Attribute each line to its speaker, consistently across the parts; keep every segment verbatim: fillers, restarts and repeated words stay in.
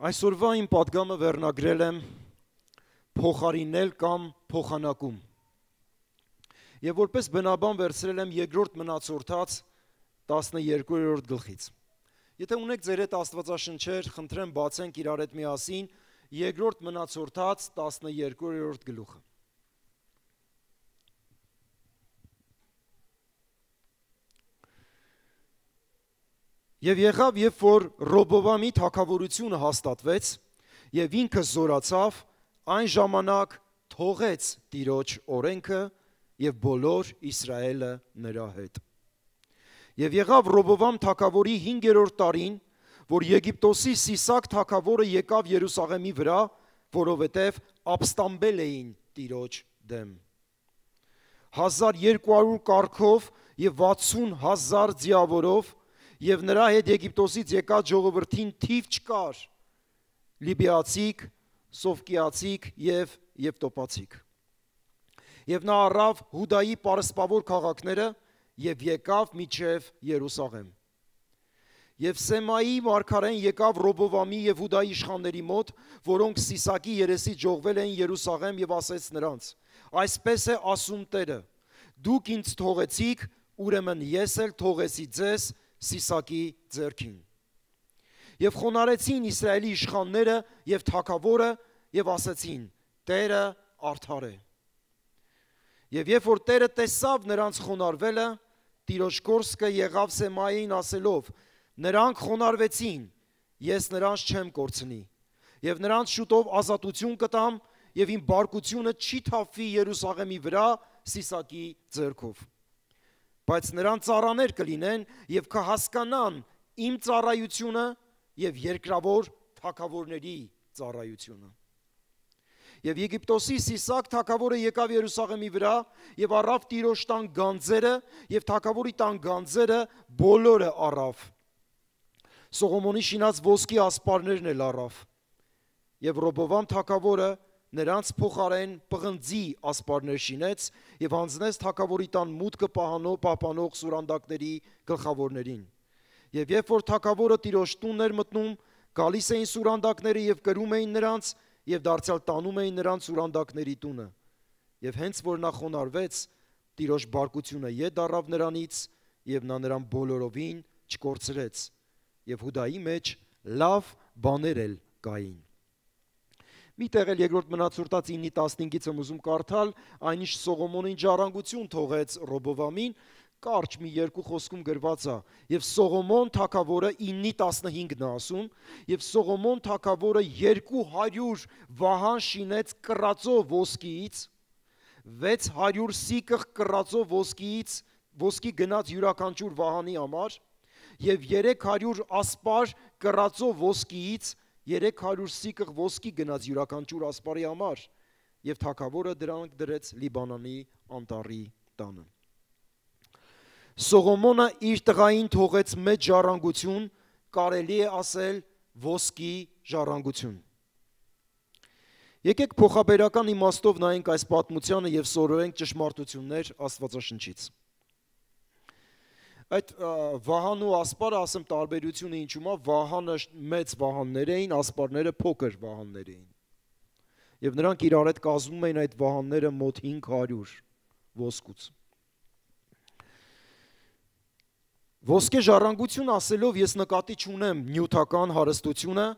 Speaker 1: Այսօրվա իմ պատգամը վերնագրել եմ փոխարինել կամ փոխանակում։ Եվ որպես բնաբան վերցրել եմ երկրորդ մնացորդած տասներկուերորդ գլխից։ Եթե ունեք ձեր հետ աստվածաշնչեր, խնդրեմ բացենք իրար հետ միասին երկրորդ մնացորդած տասներկուերորդ գլուխը։ Եվ եղավ, երբ որ Ռոբովամի թագավորությունը հաստատվեց, եւ ինքը զորացավ, այն ժամանակ թողեց Տիրոջ օրենքը եւ բոլոր Իսրայելը նրա հետ։ Եվ եղավ Ռոբովամ թագավորի հինգերորդ տարին, որ Եգիպտոսի Սիսակ թագավորը եկավ Երուսաղեմի վրա, որովհետև ապստամբել էին Տիրոջ դեմ։ հազար երկու հարյուր կառքով եւ վաթսուն հազար ձիավորով եւ նրա հետ Եգիպտոսից եկած ժողովրդին թիվ չկար, լիբիացիք, սովկիացիք եւ եվտոպացիք։ Եվ նա առավ Հուդայի պարսպավոր քաղաքները եւ եկավ միջև Երուսաղեմ։ Եվ Սեմայի մարգարեն եկավ Ռոբովամի եւ Հուդայի իշխանների մոտ, որոնք Սիսակի երեսից ժողվել էին Երուսաղեմ եւ ասեց նրանց. այսպես է ասում Տերը. դուք ինձ թողեցիք, ուրեմն ես էլ թողեցի ձեզ Սիսակի ձեռքին։ Եվ խոնարեցին Իսրայելի իշխանները եւ թագավորը եւ ասացին. Տերը արդար է։ Եվ երբ որ Տերը տեսավ նրանց խոնարհվելը, Տիրոջ կորսկը եղավ Սեմային ասելով. նրանք խոնարհվեցին, ես նրանց չեմ կորցնի, եւ նրանց շուտով ազատություն կտամ, եւ իմ բարկությունը չի թափվի Երուսաղեմի վրա Սիսակի ձեռքով։ Բայց նրանց ծառաներ կլինեն եւ կհասկանան իմ ծառայությունը եւ երկրավոր թագավորների ծառայությունը։ Եվ Եգիպտոսի Սիսակ թագավորը եկավ Երուսաղեմի վրա եւ առավ Տիրոջ տան գանձերը եւ թագավորի տան գանձերը բոլորը առավ։ Սողոմոնի շինած ոսկի ասպարներն էլ առավ։ Եվ Ռոբովամ թագավորը նրանց փոխարեն պղնձի ասպարներ շինեց եւ հանձնեց թագավորի տան մուտքը պահպանող սուրանդակների գլխավորներին։ Եվ երբ որ թագավորը Տիրոջ տունն էր մտնում, գալիս էին սուրանդակները եւ կրում էին նրանց եւ դարձյալ տանում էին նրանց սուրանդակների տունը։ Եվ հենց որ նա խոնարհվեց, Տիրոջ բարկությունը ետ առավ նրանից եւ նա նրան բոլորովին չկորցրեց։ Եվ Հուդայի մեջ լավ բաներ էլ կային։ Մի տեղ էլ երկրորդ մնացորդած ինը տասնհինգից եմ ուզում կարդալ, այնիշ Սողոմոնին ժառանգություն թողեց Ռոբովամին, կարճ մի երկու խոսքում գրված է, եւ Սողոմոն թագավորը ինը տասնհինգն է ասում, եւ Սողոմոն թագավորը երկու հարյուր վահան շինեց կռածո ոսկիից, վեց հարյուր սիկղ կռածո ոսկիից, ոսկի գնաց յուրաքանչյուր վահանի համար, եւ երեք հարյուր ասպար կռածո ոսկիից երեք հարյուր սիկղ ոսկի գնաց յուրաքանչյուր ասպարի համար, եւ թագավորը դրանք դրեց Լիբանանի անտառի տանը։ Սողոմոնը իր տղային թողեց մեծ ժառանգություն, կարելի է ասել ոսկի ժառանգություն։ Եկեք փոխաբերական իմաստով նայենք այս պատմությանը եւ սովորենք ճշմարտություններ Աստվածաշնչից։ Այդ վահան ու ասպարը ասեմ տարբերությունը ինչու՞մ է, վահանը մեծ վահաններ էին, ասպարները փոքր վահաններ էին։ Եվ նրանք իրար հետ կազմում էին այդ վահանները մոտ հինգ հարյուր ոսկուց։ Ոսկե ժառանգություն ասելով ես նկատի չունեմ նյութական հարստությունը,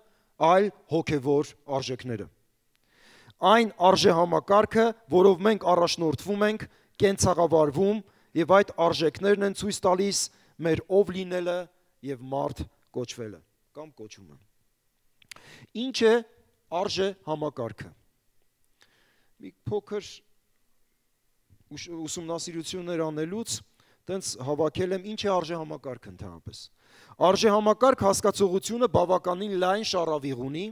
Speaker 1: այլ հոգևոր արժեքները։ Այն արժեհամակարգը, որով մենք առաջնորդվում ենք, կենցաղավարվում եւ այդ արժեքներն են ցույց տալիս մեր ով լինելը եւ մարդ կոչվելը կամ կոչումը։ Ինչ է արժեհամակարգը։ Մի փոքր ուսումնասիրություններ անելուց տենց հավաքել եմ ինչ է արժեհամակարգը ընդհանրապես։ Արժեհամակարգ հասկացողությունը բավականին լայն շարավիղ ունի։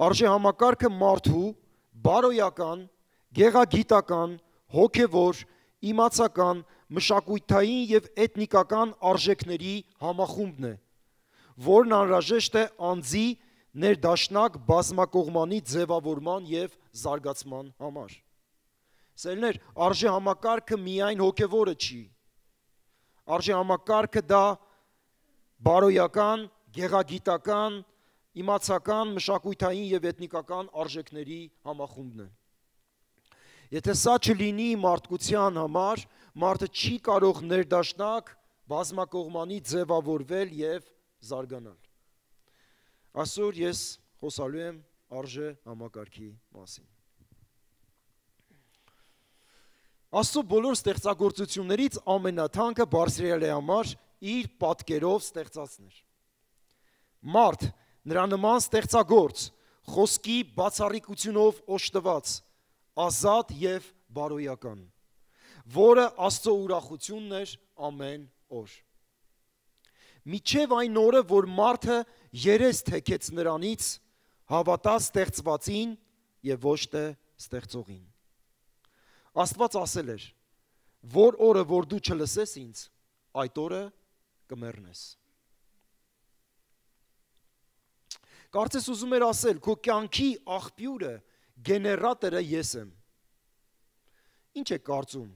Speaker 1: Արժեհամակարգը մարդու բարոյական, գեղագիտական, հոգևոր, իմացական, մշակութային եւ էթնիկական արժեքների համախումբն է, որն անհրաժեշտ է անձի ներդաշնակ բազմակողմանի ձևավորման եւ զարգացման համար։ Սերներ, արժեհամակարգը միայն հոգևորը չի։ Արժեհամակարգը դա բարոյական, գեղագիտական, իմացական, մշակութային եւ էթնիկական արժեքների համախումբն է։ Եթե սա չլինի մարդկության համար, մարդը չի կարող ներդաշնակ բազմակողմանի ձևավորվել եւ զարգանալ։ Այսօր ես խոսալու եմ արժե համակարգի մասին։ Աստծո բոլոր ստեղծագործություններից ամենաթանկը Բարձրյալի համար իր պատկերով ստեղծածն էր։ Մարդ, նրա նման ստեղծագործ, խոսքի բացառիկությունով օժտված, ազատ եւ բարոյական, որը Աստծո ուրախությունն էր ամեն օր։ Միջև այն օրը, որ մարդը երես թեքեց նրանից, հավատա ստեղծվածին եւ ոչ թե ստեղծողին։ Աստված ասել էր, որ օրը, որ դու չլսես ինձ, այդ օրը կմեռնես։ Կարծես ուզում էր ասել, քո կյանքի աղբյուրը, գեներատորը ես եմ։ Ինչ է կարծում,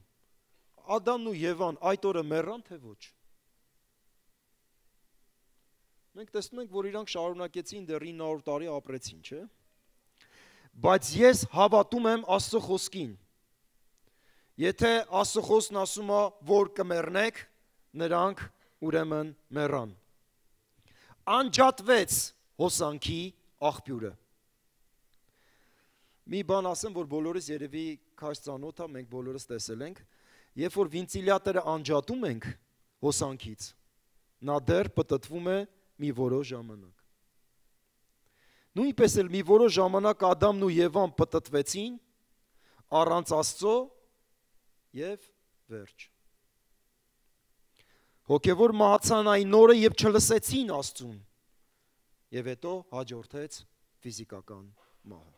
Speaker 1: Ադամն ու Եվան այդ օրը մեռան, թե ոչ։ Մենք տեսնում ենք, որ իրանք շարունակեցին դեռ ինը հարյուր տարի ապրեցին, չէ՞։ Բայց ես հավատում եմ Աստծո խոսքին։ Եթե Աստծո խոսքն ասում է, որ կմեռնեք, նրանք ուրեմն մեռան։ Անջատվեց հոսանքի աղբյուրը։ Մի բան ասեմ, որ բոլորս երևի քաշ ծանոթ է, մենք բոլորս տեսել ենք, երբ որ վենտիլյատորը անջատում ենք հոսանքից, նա դեռ պտտվում է մի որոշ ժամանակ։ Նույնպես էլ մի որոշ ժամանակ Ադամն ու Եվան պտտվեցին առանց Աստծո եւ վերջ։ Հոգևոր մահացան այն օրը, երբ չլսեցին Աստծուն, եւ հետո հաջորդեց ֆիզիկական մահը։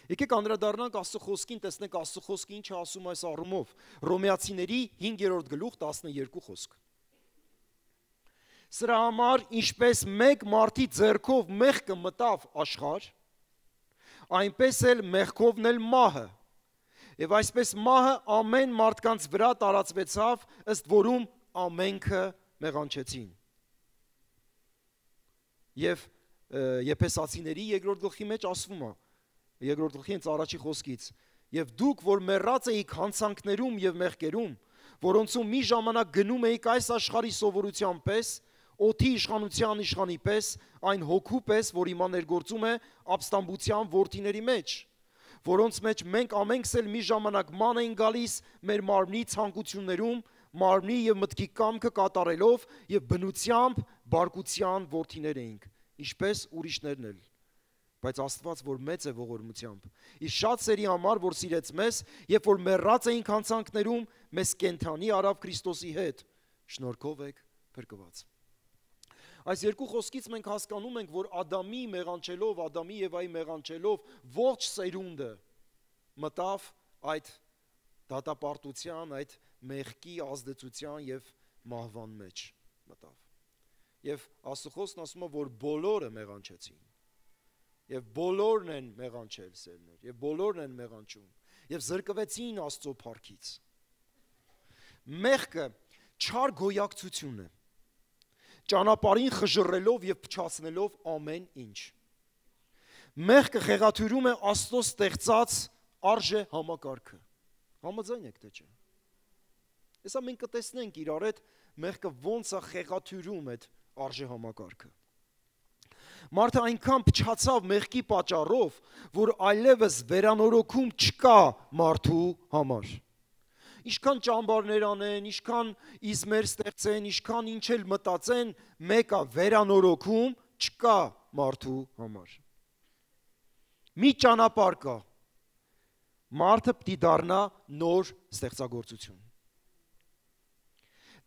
Speaker 1: Եկեք անդրադառնանք Աստծո խոսքին, տեսնենք Աստծո խոսքը ինչ է ասում այս առումով։ Հռոմեացիների հինգերորդ գլուխ տասներկու խոսք։ Սրա համար, ինչպես մեկ մարդի ձեռքով մեղքը մտավ աշխարհ, այնպես էլ մեղքովն էլ մահը։ Եվ այսպես մահը ամեն մարդկանց վրա տարածվեցավ, ըստ որում ամենքը մեղանչեցին։ Եվ Եփեսացիների երկրորդ գլխի մեջ ասվում է, երկրորդ գլխի հենց առաջի խոսքից, եւ դուք, որ մեռած էիք հանցանքներում եւ մեղքերում, որոնցում մի ժամանակ գնում էիք այս աշխարհի սովորության պես, օդի իշխանության իշխանի պես, այն հոգու պես, որ հիմա ներգործում է ապստամբության որդիների մեջ, որոնց մեջ մենք ամենքս էլ մի ժամանակ ման էին գալիս մեր մարմնի ցանկություններում, մարմնի եւ մտքի կամքը կատարելով եւ բնությամբ բարկության որդիներ էինք, ինչպես ուրիշներն էլ։ Բայց Աստված, որ մեծ է ողորմությամբ, իր շատ սերի համար, որ սիրեց մեզ, երբ որ մեռած էինք հանցանքներում, մեզ կենդանի արավ Քրիստոսի հետ, շնորհքով եք փրկված։ Այս երկու խոսքից մենք հասկանում ենք, որ Ադամի մեղանչելով, Ադամի եւ Եվայի մեղանչելով ողջ սերունդը մտավ այդ դատապարտության, այդ մեղքի ազդեցության եւ մահվան մեջ մտավ։ Եվ Աստծո խոսքն ասում է, որ բոլորը մեղանչեցին։ Եվ բոլորն են մեղանչել սերներ, եւ բոլորն են մեղանչում, եւ զրկվեցին Աստծո փառքից։ Մեղքը չար գոյակցություն է, ճանապարհին խժռելով եւ փչացնելով ամեն ինչ։ Մեղքը խեղաթյուրում է Աստծո ստեղծած արժե համակարգը։ Համաձայն եք թե չէ։ Հեսա մենք կտեսնենք իրար հետ մեղքը ոնց է խեղաթյուրում այդ արժե համակարգը։ Մարդը այնքան փչացավ մեղքի պատճառով, որ այլևս վերանորոգում չկա մարդու համար։ Ինչքան ճամբարներ անեն, ինչքան իզմեր ստեղծեն, ինչքան ինչ էլ մտածեն, մեկը վերանորոգում չկա մարդու համար։ Մի ճանապարհ կա։ Մարդը պիտի դառնա նոր ստեղծագործություն։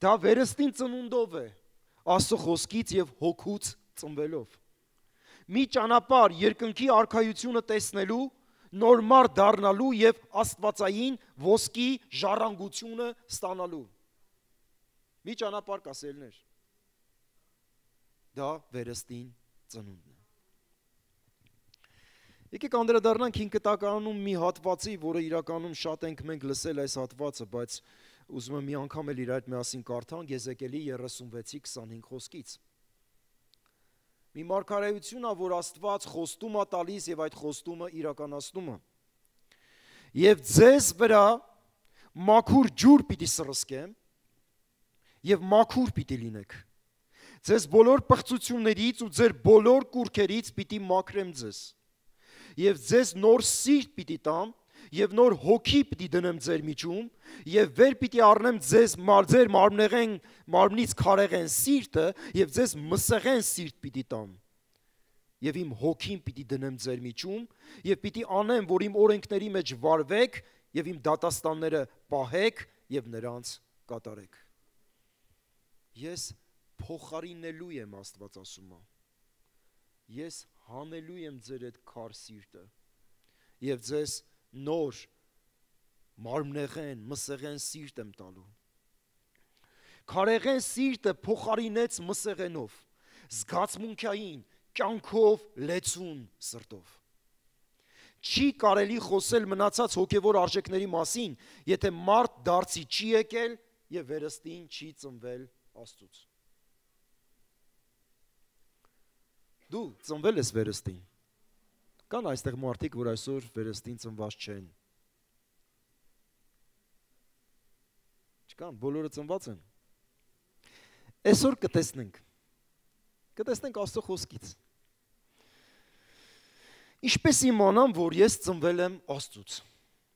Speaker 1: Դա վերստին ծնունդով է, Աստծո խոսքից եւ հոգուց ծնվելով։ Մի ճանապարհ երկնքի արքայությունը տեսնելու, նոր մարդ դառնալու եւ աստվածային ոսկի ժառանգությունը ստանալու։ Մի ճանապարհ կա սերներ։ Դա վերստին ծնունդն է։ Եկեք անդրադառնանք հինգտականում մի հատվածի, որը իրականում շատ ենք մենք լսել այս հատվածը, բայց ուզում եմ մի անգամ էլ իր հետ միասին կարդանք Եզեկիելի երեսունվեցի քսանհինգ խոսքից։ Մի մարգարեություն է, որ Աստված խոստում է տալիս եւ այդ խոստումը իրականացնում է։ Եվ ձեզ վրա մաքուր ջուր պիտի սրսկեմ եւ մաքուր պիտի լինեք։ Ձեզ բոլոր պղծություններից ու ձեր բոլոր կուրքերից պիտի մաքրեմ ձեզ։ Եվ ձեզ նոր սիրտ պիտի տամ եւ նոր հոգի պիտի դնեմ ձեր միջում եւ վեր պիտի առնեմ ձեզ ձեր մարմնեղեն մարմնից քարեղեն սիրտը եւ ձեզ մսեղեն սիրտ պիտի տամ։ Եվ իմ հոգին պիտի դնեմ ձեր միջում եւ պիտի անեմ, որ իմ օրենքների մեջ վարվեք եւ իմ դատաստանները պահեք եւ նրանց կատարեք։ Ես փոխարինելու եմ, Աստված ասում է։ Ես հանելու եմ ձեր այդ քար սիրտը եւ ձեզ նոր մարմնեղեն, մսեղեն սիրտ եմ տալու։ Քարեղեն սիրտը փոխարինեց մսեղենով, զգացմունքային, կյանքով լեցուն սրտով։ Չի կարելի խոսել մնացած հոգևոր արժեքների մասին, եթե մարդ դարձի չի եկել եւ վերստին չի ծնվել Աստծուց։ Դու ծնվել ես վերստին։ Կան այստեղ մարդիկ, որ այսօր վերստին ծնված չեն։ Չկան, բոլորը ծնված են։ Այսօր կտեսնենք։ Կտեսնենք Աստծո խոսքից։ Ինչպես իմանամ, որ ես ծնվել եմ Աստծուց։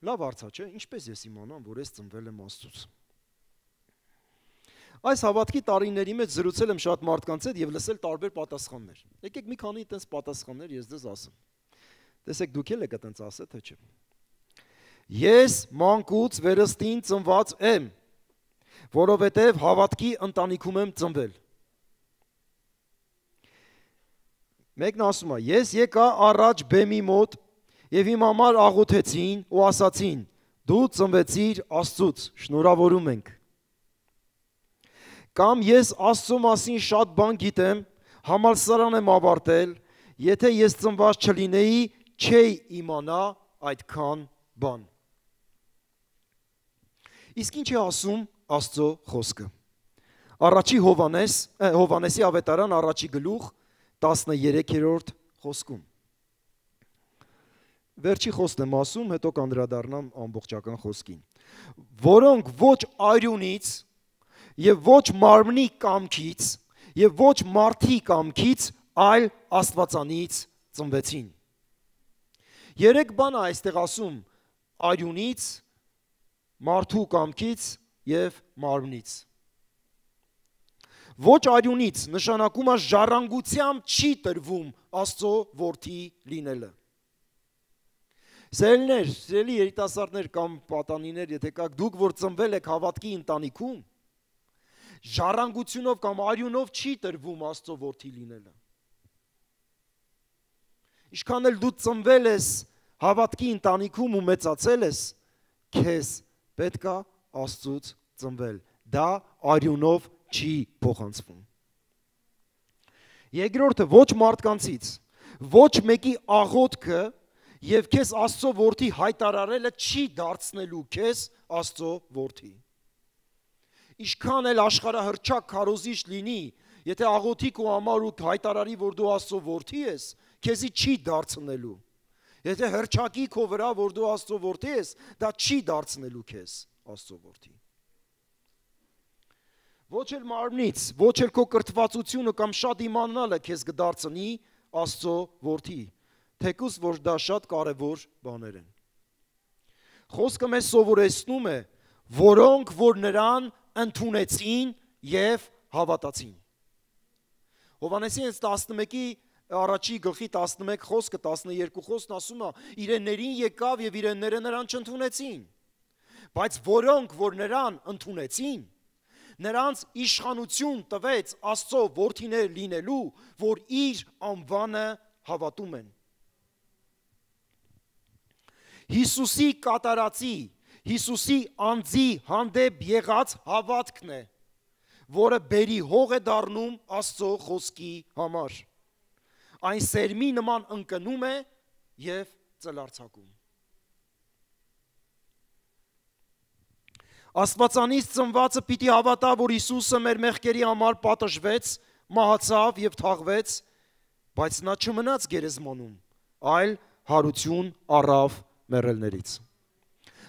Speaker 1: Լավ հարց է, չէ՞։ Ինչպես ես իմանամ, որ ես ծնվել եմ Աստծուց։ Այս հավատքի տարիների մեջ զրուցել եմ շատ մարդկանց հետ եւ լսել տարբեր պատասխաններ։ Եկեք մի քանի այդպես պատասխաններ ես դες ասեմ։ Տեսեք դուք եք այդպես ասել թե չէ։ Ես մանկուց վերստին ծնված եմ, որովհետեւ հավատքի ընտանիքում եմ ծնվել։ Մեկն ասում է. ես եկա առաջ բեմի մոտ եւ իմ համար աղոթեցին ու ասացին. դու ծնվեցիր Աստծուց, շնորհավորում ենք։ Կամ ես Աստծո մասին շատ բան գիտեմ, համալսարան եմ ավարտել, եթե ես ծնված չլինեի, չէի իմանա այդքան բան։ Իսկ ինչ է ասում Աստծո խոսքը։ Առաջի Հովանես, Հովանեսի ավետարան առաջի գլուխ տասներեքերորդ խոսքում։ Վերջի խոսքն եմ ասում, հետո կանդրադառնամ ամբողջական խոսքին։ Որոնք ոչ արյունից եւ ոչ մարմնի կամքից եւ ոչ մարդի կամքից, այլ Աստվածանից ծնվեցին։ Երեք բան է այստեղ ասում արյունից, մարդու կամքից եւ մարմնից։ Ոչ արյունից նշանակում է ժառանգությամբ չի տրվում Աստծո որդի լինելը։ Սերելիներ, սերելի երիտասարդներ կամ պատանիներ, եթե կաք, դուք որ ծնվել եք հավատքի ընտանիքում, ժառանգությունով կամ արյունով չի տրվում Աստծո որդի լինելը։ Ինչքան էլ դու ծնվել ես հավատքի ընտանիքում ու մեծացել ես, քեզ պետք է Աստծուց ծնվել։ Դա արյունով չի փոխանցվում։ Երկրորդը ոչ մարդկանցից, ոչ մեկի աղոթքը եւ քեզ Աստծո որդի հայտարարելը չի դարձնելու քեզ Աստծո որդի։ Ինչքան էլ աշխարհահռչակ քարոզիչ լինի, եթե աղոթի քո համար ու հայտարարի, որ դու Աստծո որդի ես, քեզի չի դարձնելու։ Եթե հռչակի քո վրա, որ դու Աստծո որդի ես, դա չի դարձնելու քեզ Աստծո որդի։ Ոչ էլ մարմնից, ոչ էլ քո կրթվածությունը կամ շատ իմանալը քեզ կդարձնի Աստծո որդի, թեկուզ որ դա շատ կարևոր բաներ են։ Խոսքը մեզ սովորեցնում է, որոնք որ նրան ընդունեցին եւ հավատացին։ Հովանեսի տասնմեկի առաջի գլխի տասնմեկ խոսքը տասներկու խոսքն ասում է իրեններին եկավ եւ իրենները նրան չընդունեցին, բայց որոնք որ նրան ընդունեցին, նրանց իշխանություն տվեց Աստծո որդիներ լինելու, որ իր անվանը հավատում են։ Հիսուսի կատարածի, Հիսուսի անձի հանդեպ եղած հավատքն է, որը բերի հող է դառնում Աստծո խոսքի համար։ Այն սերմի նման ընկնում է եւ ծլարձակում։ Աստվածանից ծնվածը պիտի հավատա, որ Հիսուսը մեր մեղքերի համար պատժվեց, մահացավ եւ թաղվեց բայց նա չմնաց գերեզմանում, այլ հարություն առավ մեռելներից։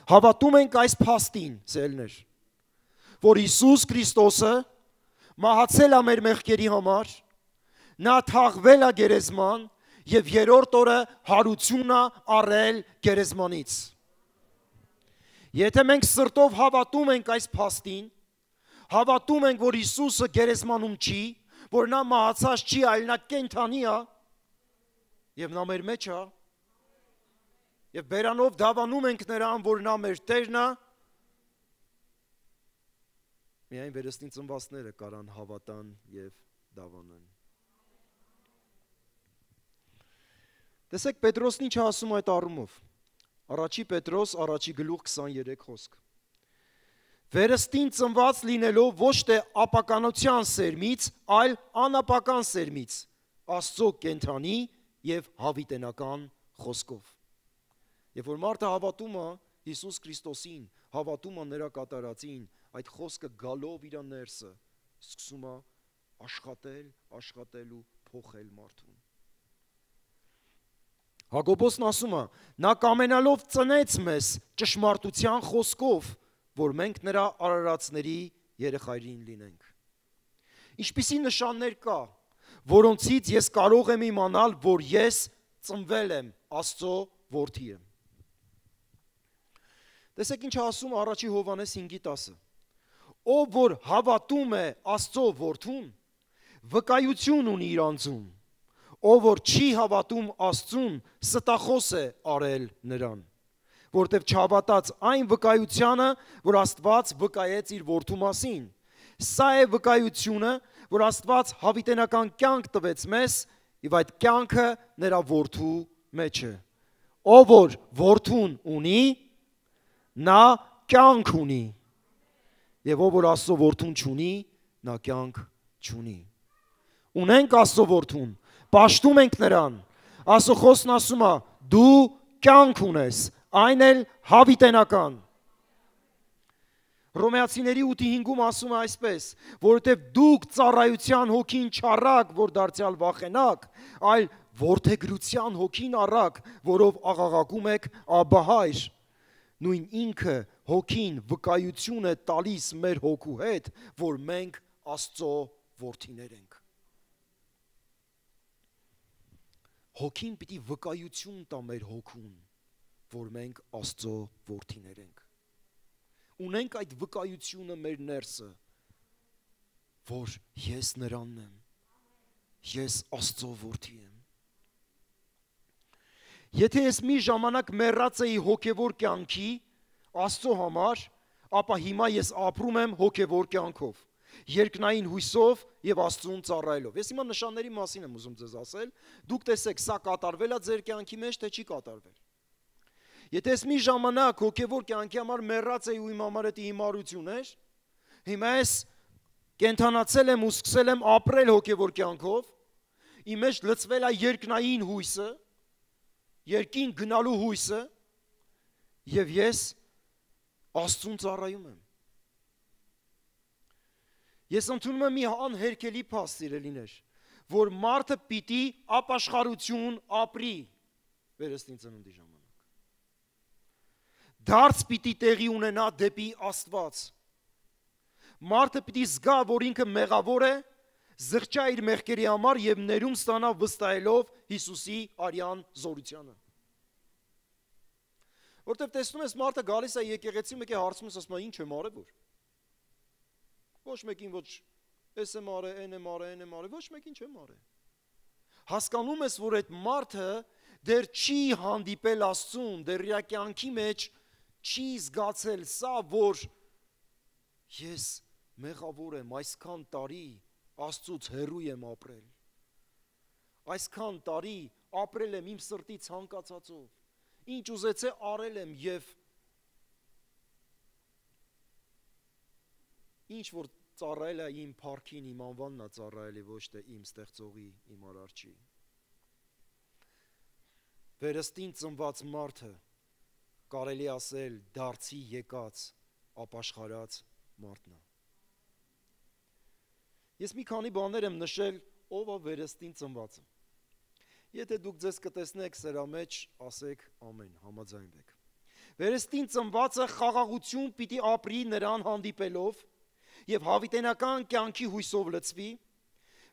Speaker 1: Հավատում ենք այս փաստին, սիրելիներ, որ Հիսուս Քրիստոսը մահացել է մեր մեղքերի համար, նա թաղվել է գերեզման եւ երրորդ օրը հարություն է առել գերեզմանից։ Եթե մենք սրտով հավատում ենք այս փաստին, հավատում ենք, որ Հիսուսը գերեզմանում չի, որ նա մահացած չի, այլ նա կենդանի է, եւ նա մեր մեջ է, եւ բերանով դավանում ենք նրան, որ նա մեր Տերն է, միայն վերստին ծնվածները կարան հավատան եւ դավանան։ Տեսեք, Պետրոսն ինչ ասում այդ առումով։ Առաջի Պետրոս, առաջի գլուխ քսաներեք խոսք։ Վերստին ծնված լինելով ոչ թե ապականության սերմից, այլ անապական սերմից, Աստծո կենդանի եւ հավիտենական խոսքով։ Երբ որ մարդը հավատում է Հիսուս Քրիստոսին, հավատում է նրա կատարածին, այդ խոսքը գալով իր ներսը սկսում է աշխատել, աշխատել ու փոխել մարդուն։ Հակոբոսն ասում է, նա կամենալով ծնեց մեզ ճշմարտության խոսքով, որ մենք նրա արարածների երեխայրին լինենք։ Ինչպիսի նշաններ կա, որոնցից ես կարող եմ իմանալ, որ ես ծնվել եմ Աստծո որդի եմ։ Տեսեք ինչ ասում առաջի Հովհաննես հինգի տասը։ Ով որ հավատում է Աստծո որդուն, վկայություն ունի իր անձում, ով որ չի հավատում Աստծուն, ստախոս է արել նրան, որտև չհավատաց այն վկայությանը, որ Աստված վկայեց իր որդու մասին։ Սա է վկայությունը, որ Աստված հավիտենական կյանք տվեց մեզ, եւ այդ կյանքը նրա որդու մեջ է։ Ով որ որդուն ունի, նա կյանք ունի, եւ ով որ Աստծո որդուն չունի, նա կյանք չունի։ Ունենք Աստծո որդուն, պաշտում ենք նրան։ Աստծո խոսքն ասում է, դու կյանք ունես, այն էլ հավիտենական։ Հռոմեացիների ութի հինգում ասում է այսպես, որովհետև դուք ծառայության հոգին չառաք, որ դարձյալ վախենաք, այլ որդեգրության հոգին առաք, որով աղաղակում եք Աբբա Հայր։ Նույն ինքը հոգին վկայություն է տալիս մեր հոգու հետ, որ մենք Աստծո որդիներ ենք։ Հոգին պիտի վկայություն տա մեր հոգուն, որ մենք Աստծո որդիներ ենք։ Ունենք այդ վկայությունը մեր ներսը, որ ես նրանն եմ, ես Աստծո որդի եմ։ Եթե ես մի ժամանակ մեռած էի հոգևոր կյանքի Աստծո համար, ապա հիմա ես ապրում եմ հոգևոր կյանքով, երկնային հույսով եւ Աստծուն ծառայելով։ Ես հիմա նշանների մասին եմ ուզում ձեզ ասել, դուք տեսեք, սա կատարվել է ձեր կյանքի մեջ, թե չի կատարվել։ Եթե ես մի ժամանակ հոգևոր կյանքի համար մեռած էի ու իմ համար դա հիմարություն էր, հիմա ես կենթանացել եմ ու սկսել եմ ապրել հոգևոր կյանքով, իմ մեջ լցվել է երկնային հույսը, երկին գնալու հույսը, եւ ես Աստծուն ծառայում եմ։ Ես ընդունում եմ մի անհերքելի փաստ, սիրելիներ, որ մարդը պիտի ապաշխարություն ապրի վերստին ծնունդի ժամանակ։ Դարձ պիտի տեղի ունենա դեպի Աստված։ Մարդը պիտի զգա, որ ինքը մեղավոր է, զղջա իր մեղքերի համար եւ ներում ստանա վստահելով Հիսուսի արյան զորությանը։ Որտեւ տեսնում ես մարդը գալիս է եկեղեցի, մեկ է հարցում ես, ասում է, ինչ եմ արել որ։ Ոչ մեկին ոչ էս եմ արել, այն եմ արել, այն եմ արել, ոչ մեկին չեմ արել։ Հասկանում ես, որ այդ մարդը դեռ չի հանդիպել Աստծուն, դեռ իր կյանքի մեջ չի զգացել սա, որ ես մեղավոր եմ, այսքան տարի Աստծուց հեռու եմ ապրել։ Այսքան տարի ապրել եմ իմ սրտի ցանկացածով, ինչ ուզեցե արել եմ եւ ինչ որ ծառայել է իմ փառքին, իմ անվանն է ծառայել, ոչ թե իմ ստեղծողի, իմ արարչի։ Վերստին ծնված մարդը կարելի ասել դարձի եկած ապաշխարած մարդն է։ Ես մի քանի բաներ եմ նշել, ով է վերստին ծնվածը։ Եթե դուք ձեզ կտեսնեք սրա մեջ, ասեք ամեն, համաձայնվեք։ Վերստին ծնվածը խաղաղություն պիտի ապրի նրան հանդիպելով եւ հավիտենական կյանքի հույսով լցվի։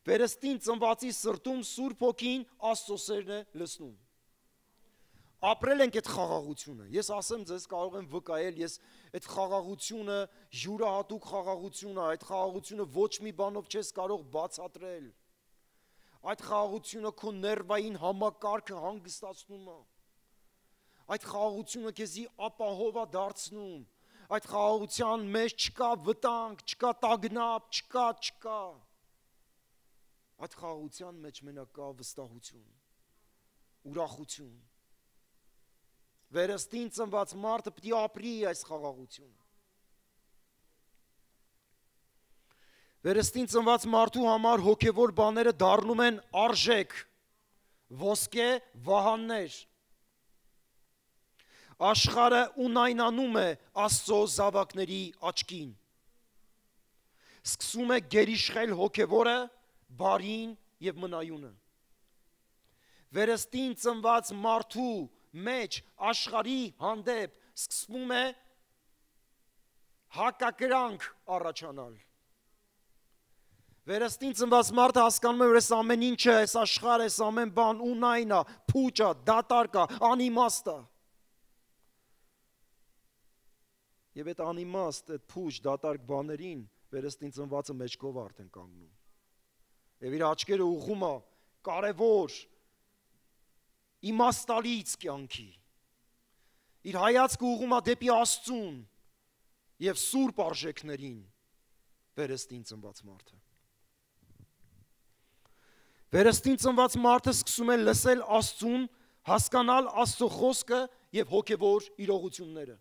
Speaker 1: Վերստին ծնվածի սրտում Սուրբ Հոգին Աստծո սերն է լցնում։ Ապրել ենք այդ խաղաղությունը։ Ես ասեմ ձեզ կարող եմ վկայել, ես այդ խաղաղությունը, յուրահատուկ խաղաղությունը, այդ խաղաղությունը ոչ մի բանով չես կարող բացատրել։ Այդ խաղաղությունը քո ներվային համակարգը հանգստացնում է։ Այդ խաղաղությունը քեզի ապահով է դարձնում։ Այդ խաղաղության մեջ չկա վտանգ, չկա տագնապ, չկա, չկա։ Այդ խաղաղության մեջ մենակ կա վստահություն, ուրախություն։ Վերստին ծնված մարդը պիտի ապրի այս խաղաղությունը։ Վերստին ծնված մարդու համար հոգևոր բաները դառնում են արժեք, ոսկե վահաններ։ Աշխարհը ունայնանում է Աստծո զավակների աչքին։ Սկսում է գերիշխել հոգևորը, բարին եւ մնայունը։ Վերստին ծնված մարդու մեջ աշխարհի հանդեպ սկսվում է հակակրանք առաջանալ։ Վերստին ծնված մարդը հասկանում է, որ այս ամեն ինչը, այս աշխարհը, այս ամեն բան ունայն է, փուչ է, դատարկ է, անիմաստ է։ Եվ այդ անիմաստ, այդ փուչ, դատարկ բաներին վերստին ծնվածը մեջքով արդեն կանգնում։ Եվ իր աչքերը ուղղում է կարևոր, իմաստալից կյանքի։ Իր հայացքը ուղղում է դեպի Աստծուն եւ սուրբ արժեքներին վերստին ծնված մարդը։ Վերստին ծնված մարդը սկսում է լսել Աստծուն, հասկանալ Աստծո խոսքը եւ հոգեվոր իրողությունները։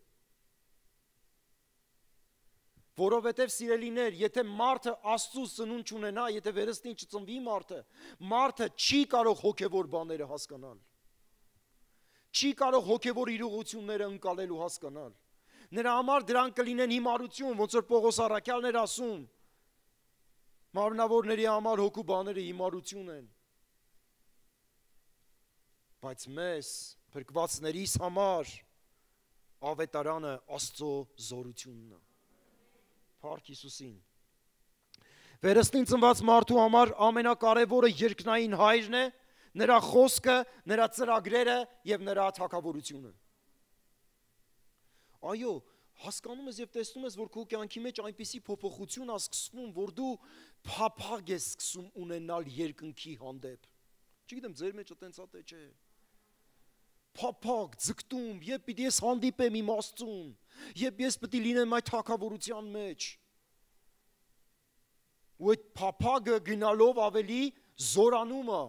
Speaker 1: Որովհետև սիրելիներ, եթե մարդը Աստծո սնունդ չունենա, եթե վերստին չծնվի մարդը, մարդը չի կարող հոգևոր բաները հասկանալ։ Չի կարող հոգևոր իրողությունները ընկալել ու հասկանալ։ Նրա համար դրանք կլինեն հիմարություն, ոնց որ Պողոս առաքյալն էր ասում։ Մարմնավորների համար հոգու բաները հիմարություն են։ Բայց մեզ, փրկվածներիս համար, ավետարանը Աստծո զորությունն է։ Փառք Հիսուսին։ Վերստին ծնված մարդու համար ամենակարևորը երկնային հայրն է, նրա խոսքը, նրա ծրագրերը եւ նրա թագավորությունը։ Այո, հասկանում ես եւ տեսնում ես, որ քո կյանքի մեջ այնպիսի փոփոխություն է սկսվում, որ դու փափագ ես սկսում ունենալ երկնքի հանդեպ։ Չգիտեմ, ձեր մեջ այտենց է թե չէ։ Փափագ, ձգտում, երբ պիտի ես հանդիպեմ իմ Աստծուն, երբ ես պիտի լինեմ այդ թագավորության մեջ։ Ու այդ փափագը գնալով ավելի զորանում է։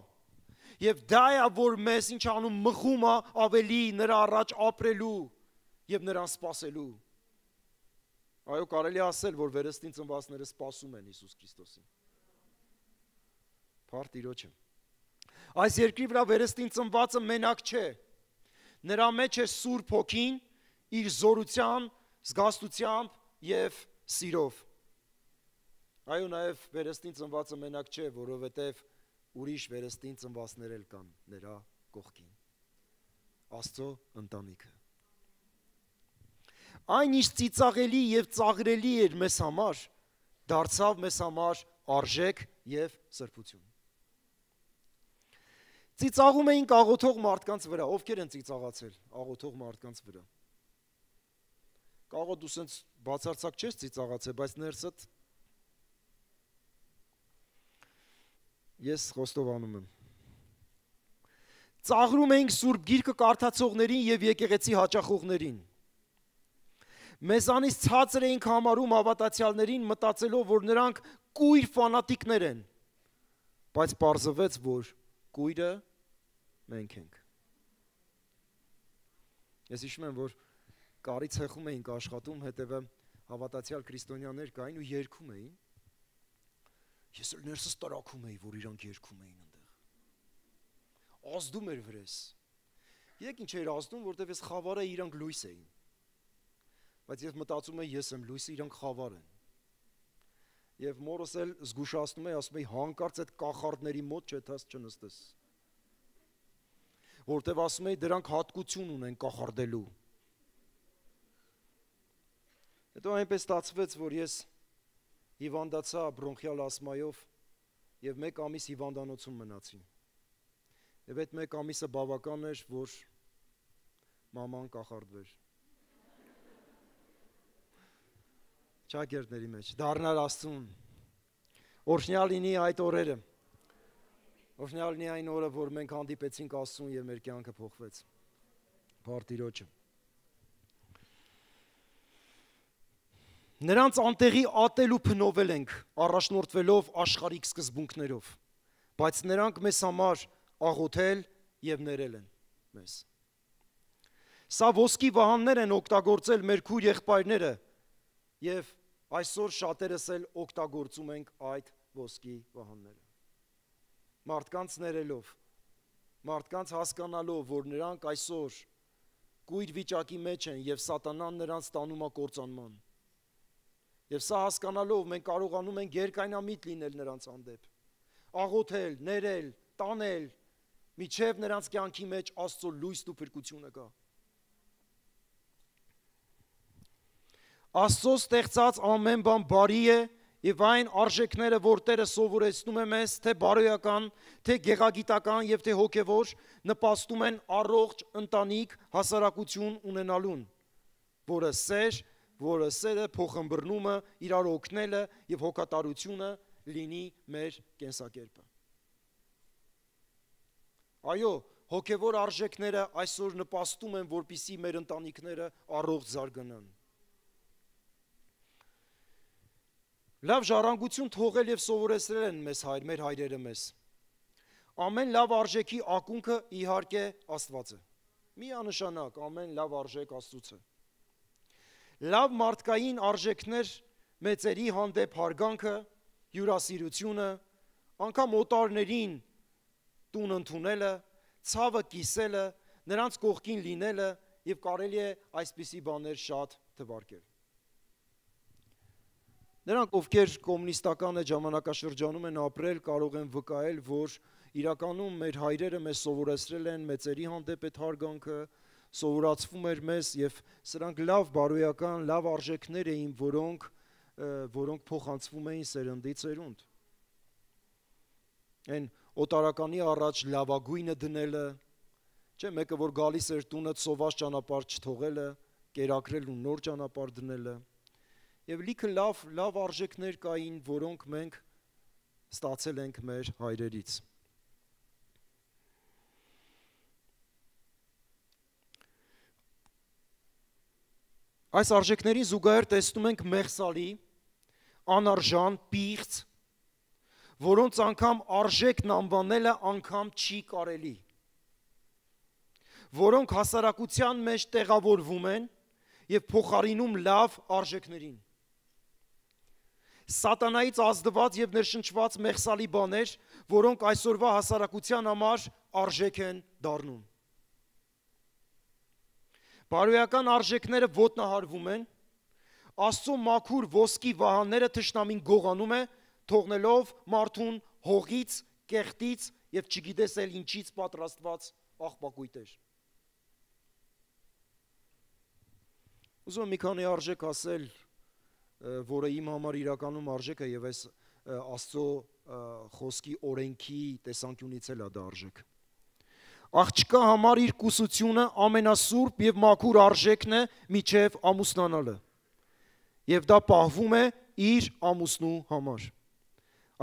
Speaker 1: Եվ դա է, որ մեզ ինչ անում մղում է ավելի նրա առաջ ապրելու եւ նրան սպասելու։ Այո, կարելի է ասել, որ վերստին ծնվածները սպասում են Հիսուս Քրիստոսին։ Փառք Տիրոջը։ Այս երկրի վրա վերստին ծնվածը մենակ չէ։ Նրա մեջ է Սուրբ Հոգին իր զորության, զգաստությամբ եւ սիրով։ Այո, նաեւ վերստին ծնվածը մենակ չէ, որովհետեւ ուրիշ վերստին ծնվածներ էլ կան նրա կողքին։ Աստծո ընտանիքը։ Այն ինչ ծիծաղելի եւ ծաղրելի էր մեզ համար, դարձավ մեզ համար արժեք եւ սրբություն։ Ծիծաղում էինք աղոթող մարդկանց վրա, ովքեր են ծիծաղացել աղոթող մարդկանց վրա։ Կարող դու սենց բացարձակ չես ծիծաղացել, բայց ներսդ ես խոստովանում եմ։ Ծաղրում էինք Սուրբ Գիրքը կարդացողներին եւ եկեղեցի հաճախողներին։ Մեզանից ցածր էինք համարում հավատացյալներին, մտածելով, որ նրանք կույր ֆանատիկներ են, բայց պարզվեց, որ կույրը մենք ենք։ Ես հիշում եմ, որ կարի ցեխում էինք աշխատում, հետևը հավատացյալ քրիստոնյաներ կային ու երգում էին։ Ես էլ ներսս տրաքում էի, որ իրանք երգում էին այնտեղ։ Ազդում էր վրես։ Եկ ինչ էր ազդում, որտեվ ես խավարը իրանք լույս էին։ Բայց ես մտածում եմ, ես եմ լույսը, իրանք խավար են։ Եվ մորս էլ զգուշացնում է, ասում է, հանկարծ այդ կախարդների մոտ չէ, դաս չնստես։ որտեվ ասում էի դրանք հատկություն ունեն կախարդելու։ Հետո այնպես ստացվեց, որ ես հիվանդացա բրոնխիալ ասմայով եւ մեկ ամիս հիվանդանոցում մնացի։ Եվ այդ մեկ ամիսը բավական էր, որ մաման կախարդվեր։ Ճակերտների մեջ, դառնալ Աստծուն։ Օրհնյալ լինի այդ օրերը։ Օրհնյալ լինի այն օրը, որ մենք հանդիպեցինք Աստծուն եւ մեր կյանքը փոխվեց։ Փառք Տիրոջը։ Նրանց անտեղի ատել ու փնովել ենք, առաջնորդվելով աշխարհիկ սկզբունքներով, բայց նրանք մեզ համար աղոթել եւ ներել են մեզ։ Սա ոսկի վահաններ են օգտագործել մեր քույր եղբայրները եւ այսօր շատերս էլ օգտագործում ենք այդ ոսկի վահանները։ Մարդկանց ներելով, մարդկանց հասկանալով, որ նրանք այսօր կույր վիճակի մեջ են եւ սատանան նրանց տանում է կործանման։ Եվ սա հասկանալով մենք կարողանում ենք երկայնամիտ լինել նրանց հանդեպ, աղոթել, ներել, տանել, միջև նրանց կյանքի մեջ Աստծո լույսն ու փրկությունը գա։ Աստծո ստեղծած ամեն բան բարի է եւ այն արժեքները, որ Տերը սովորեցնում է մեզ, թե բարոյական, թե գեղագիտական եւ թե հոգեվոր, նպաստում են առողջ ընտանիք հասարակություն ունենալուն, որը սեր, որը սերը, փոխըմբռնումը, իրար օգնելը եւ հոգատարությունը լինի մեր կենսակերպը։ Այո, հոգեվոր արժեքները այսօր նպաստում են, որպեսզի մեր ընտանիքները առողջ զարգանան։ Լավ ժառանգություն թողել եւ սովորեցրել են մեզ հայր, մեր հայրերը մեզ։ Ամեն լավ արժեքի ակունքը իհարկե Աստված է։ Միանշանակ ամեն լավ արժեք Աստծուց է։ Լավ մարդկային արժեքներ, մեծերի հանդեպ հարգանքը, հյուրասիրությունը, անգամ օտարներին տուն ընդունելը, ցավը կիսելը, նրանց կողքին լինելը եւ կարելի է այսպիսի բաներ շատ թվարկել։ Նրանք, ովքեր կոմունիստական ժամանակաշրջանում են ապրել, կարող են վկայել, որ իրականում մեր հայրերը մեզ սովորեցրել են մեծերի հանդեպ այդ հարգանքը, սովորացվում էր մեզ եւ սրանք լավ բարոյական, լավ արժեքներ էին, որոնք որոնք փոխանցվում էին սերնդի սերունդ։ Այն օտարականի առաջ լավագույնը դնելը, չէ, մեկը որ գալիս էր տունը սոված ճանապարհ չթողելը, կերակրել ու նոր ճանապարհ դնելը։ Եվ լիքը լավ, լավ արժեքներ կային, որոնք մենք ստացել ենք մեր հայրերից։ Այս արժեքներին զուգահեռ տեսնում ենք մեղսալի, անարժան, պիղծ, որոնց անգամ արժեքն անվանելը անգամ չի կարելի, որոնք հասարակության մեջ տեղավորվում են եւ փոխարինում լավ արժեքներին։ Սատանայից ազդված եւ ներշնչված մեղսալի բաներ, որոնք այսօրվա հասարակության համար արժեք են դառնում։ Բարոյական արժեքները ոտնահարվում են, Աստծո մաքուր ոսկի վահանները թշնամին գողանում է, թողնելով մարդուն հողից, կեղտից եւ չգիտես էլ ինչից պատրաստված աղբակույտեր։ Ուզում եմ մի քանի արժեք ասել, որը իմ համար իրականում արժեք է եւ այս Աստծո խոսքի օրենքի տեսանկյունից էլ է դա արժեք։ Աղջկա համար իր կուսությունը ամենասուրբ եւ մաքուր արժեքն է միջև ամուսնանալը։ Եվ դա պահվում է իր ամուսնու համար։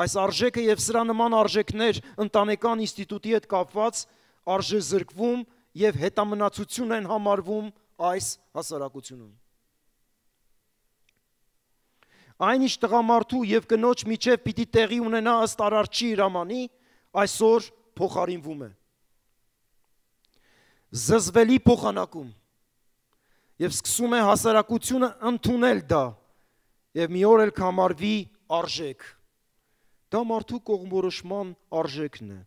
Speaker 1: Այս արժեքը եւ սրա նման արժեքներ ընտանեկան ինստիտուտի հետ կապված արժեզրկվում եւ հետամնացություն են համարվում այս հասարակությունում։ Այնիշ տղամարդու եւ կնոջ միջև պիտի տեղի ունենա ըստ Արարչի հրամանի, այսօր փոխարինվում է։ Զզվելի փոխանակում եւ սկսում է հասարակությունը ընդունել դա եւ մի օր էլ կհամարվի արժեք։ Դա մարդու կողմորոշման արժեքն է։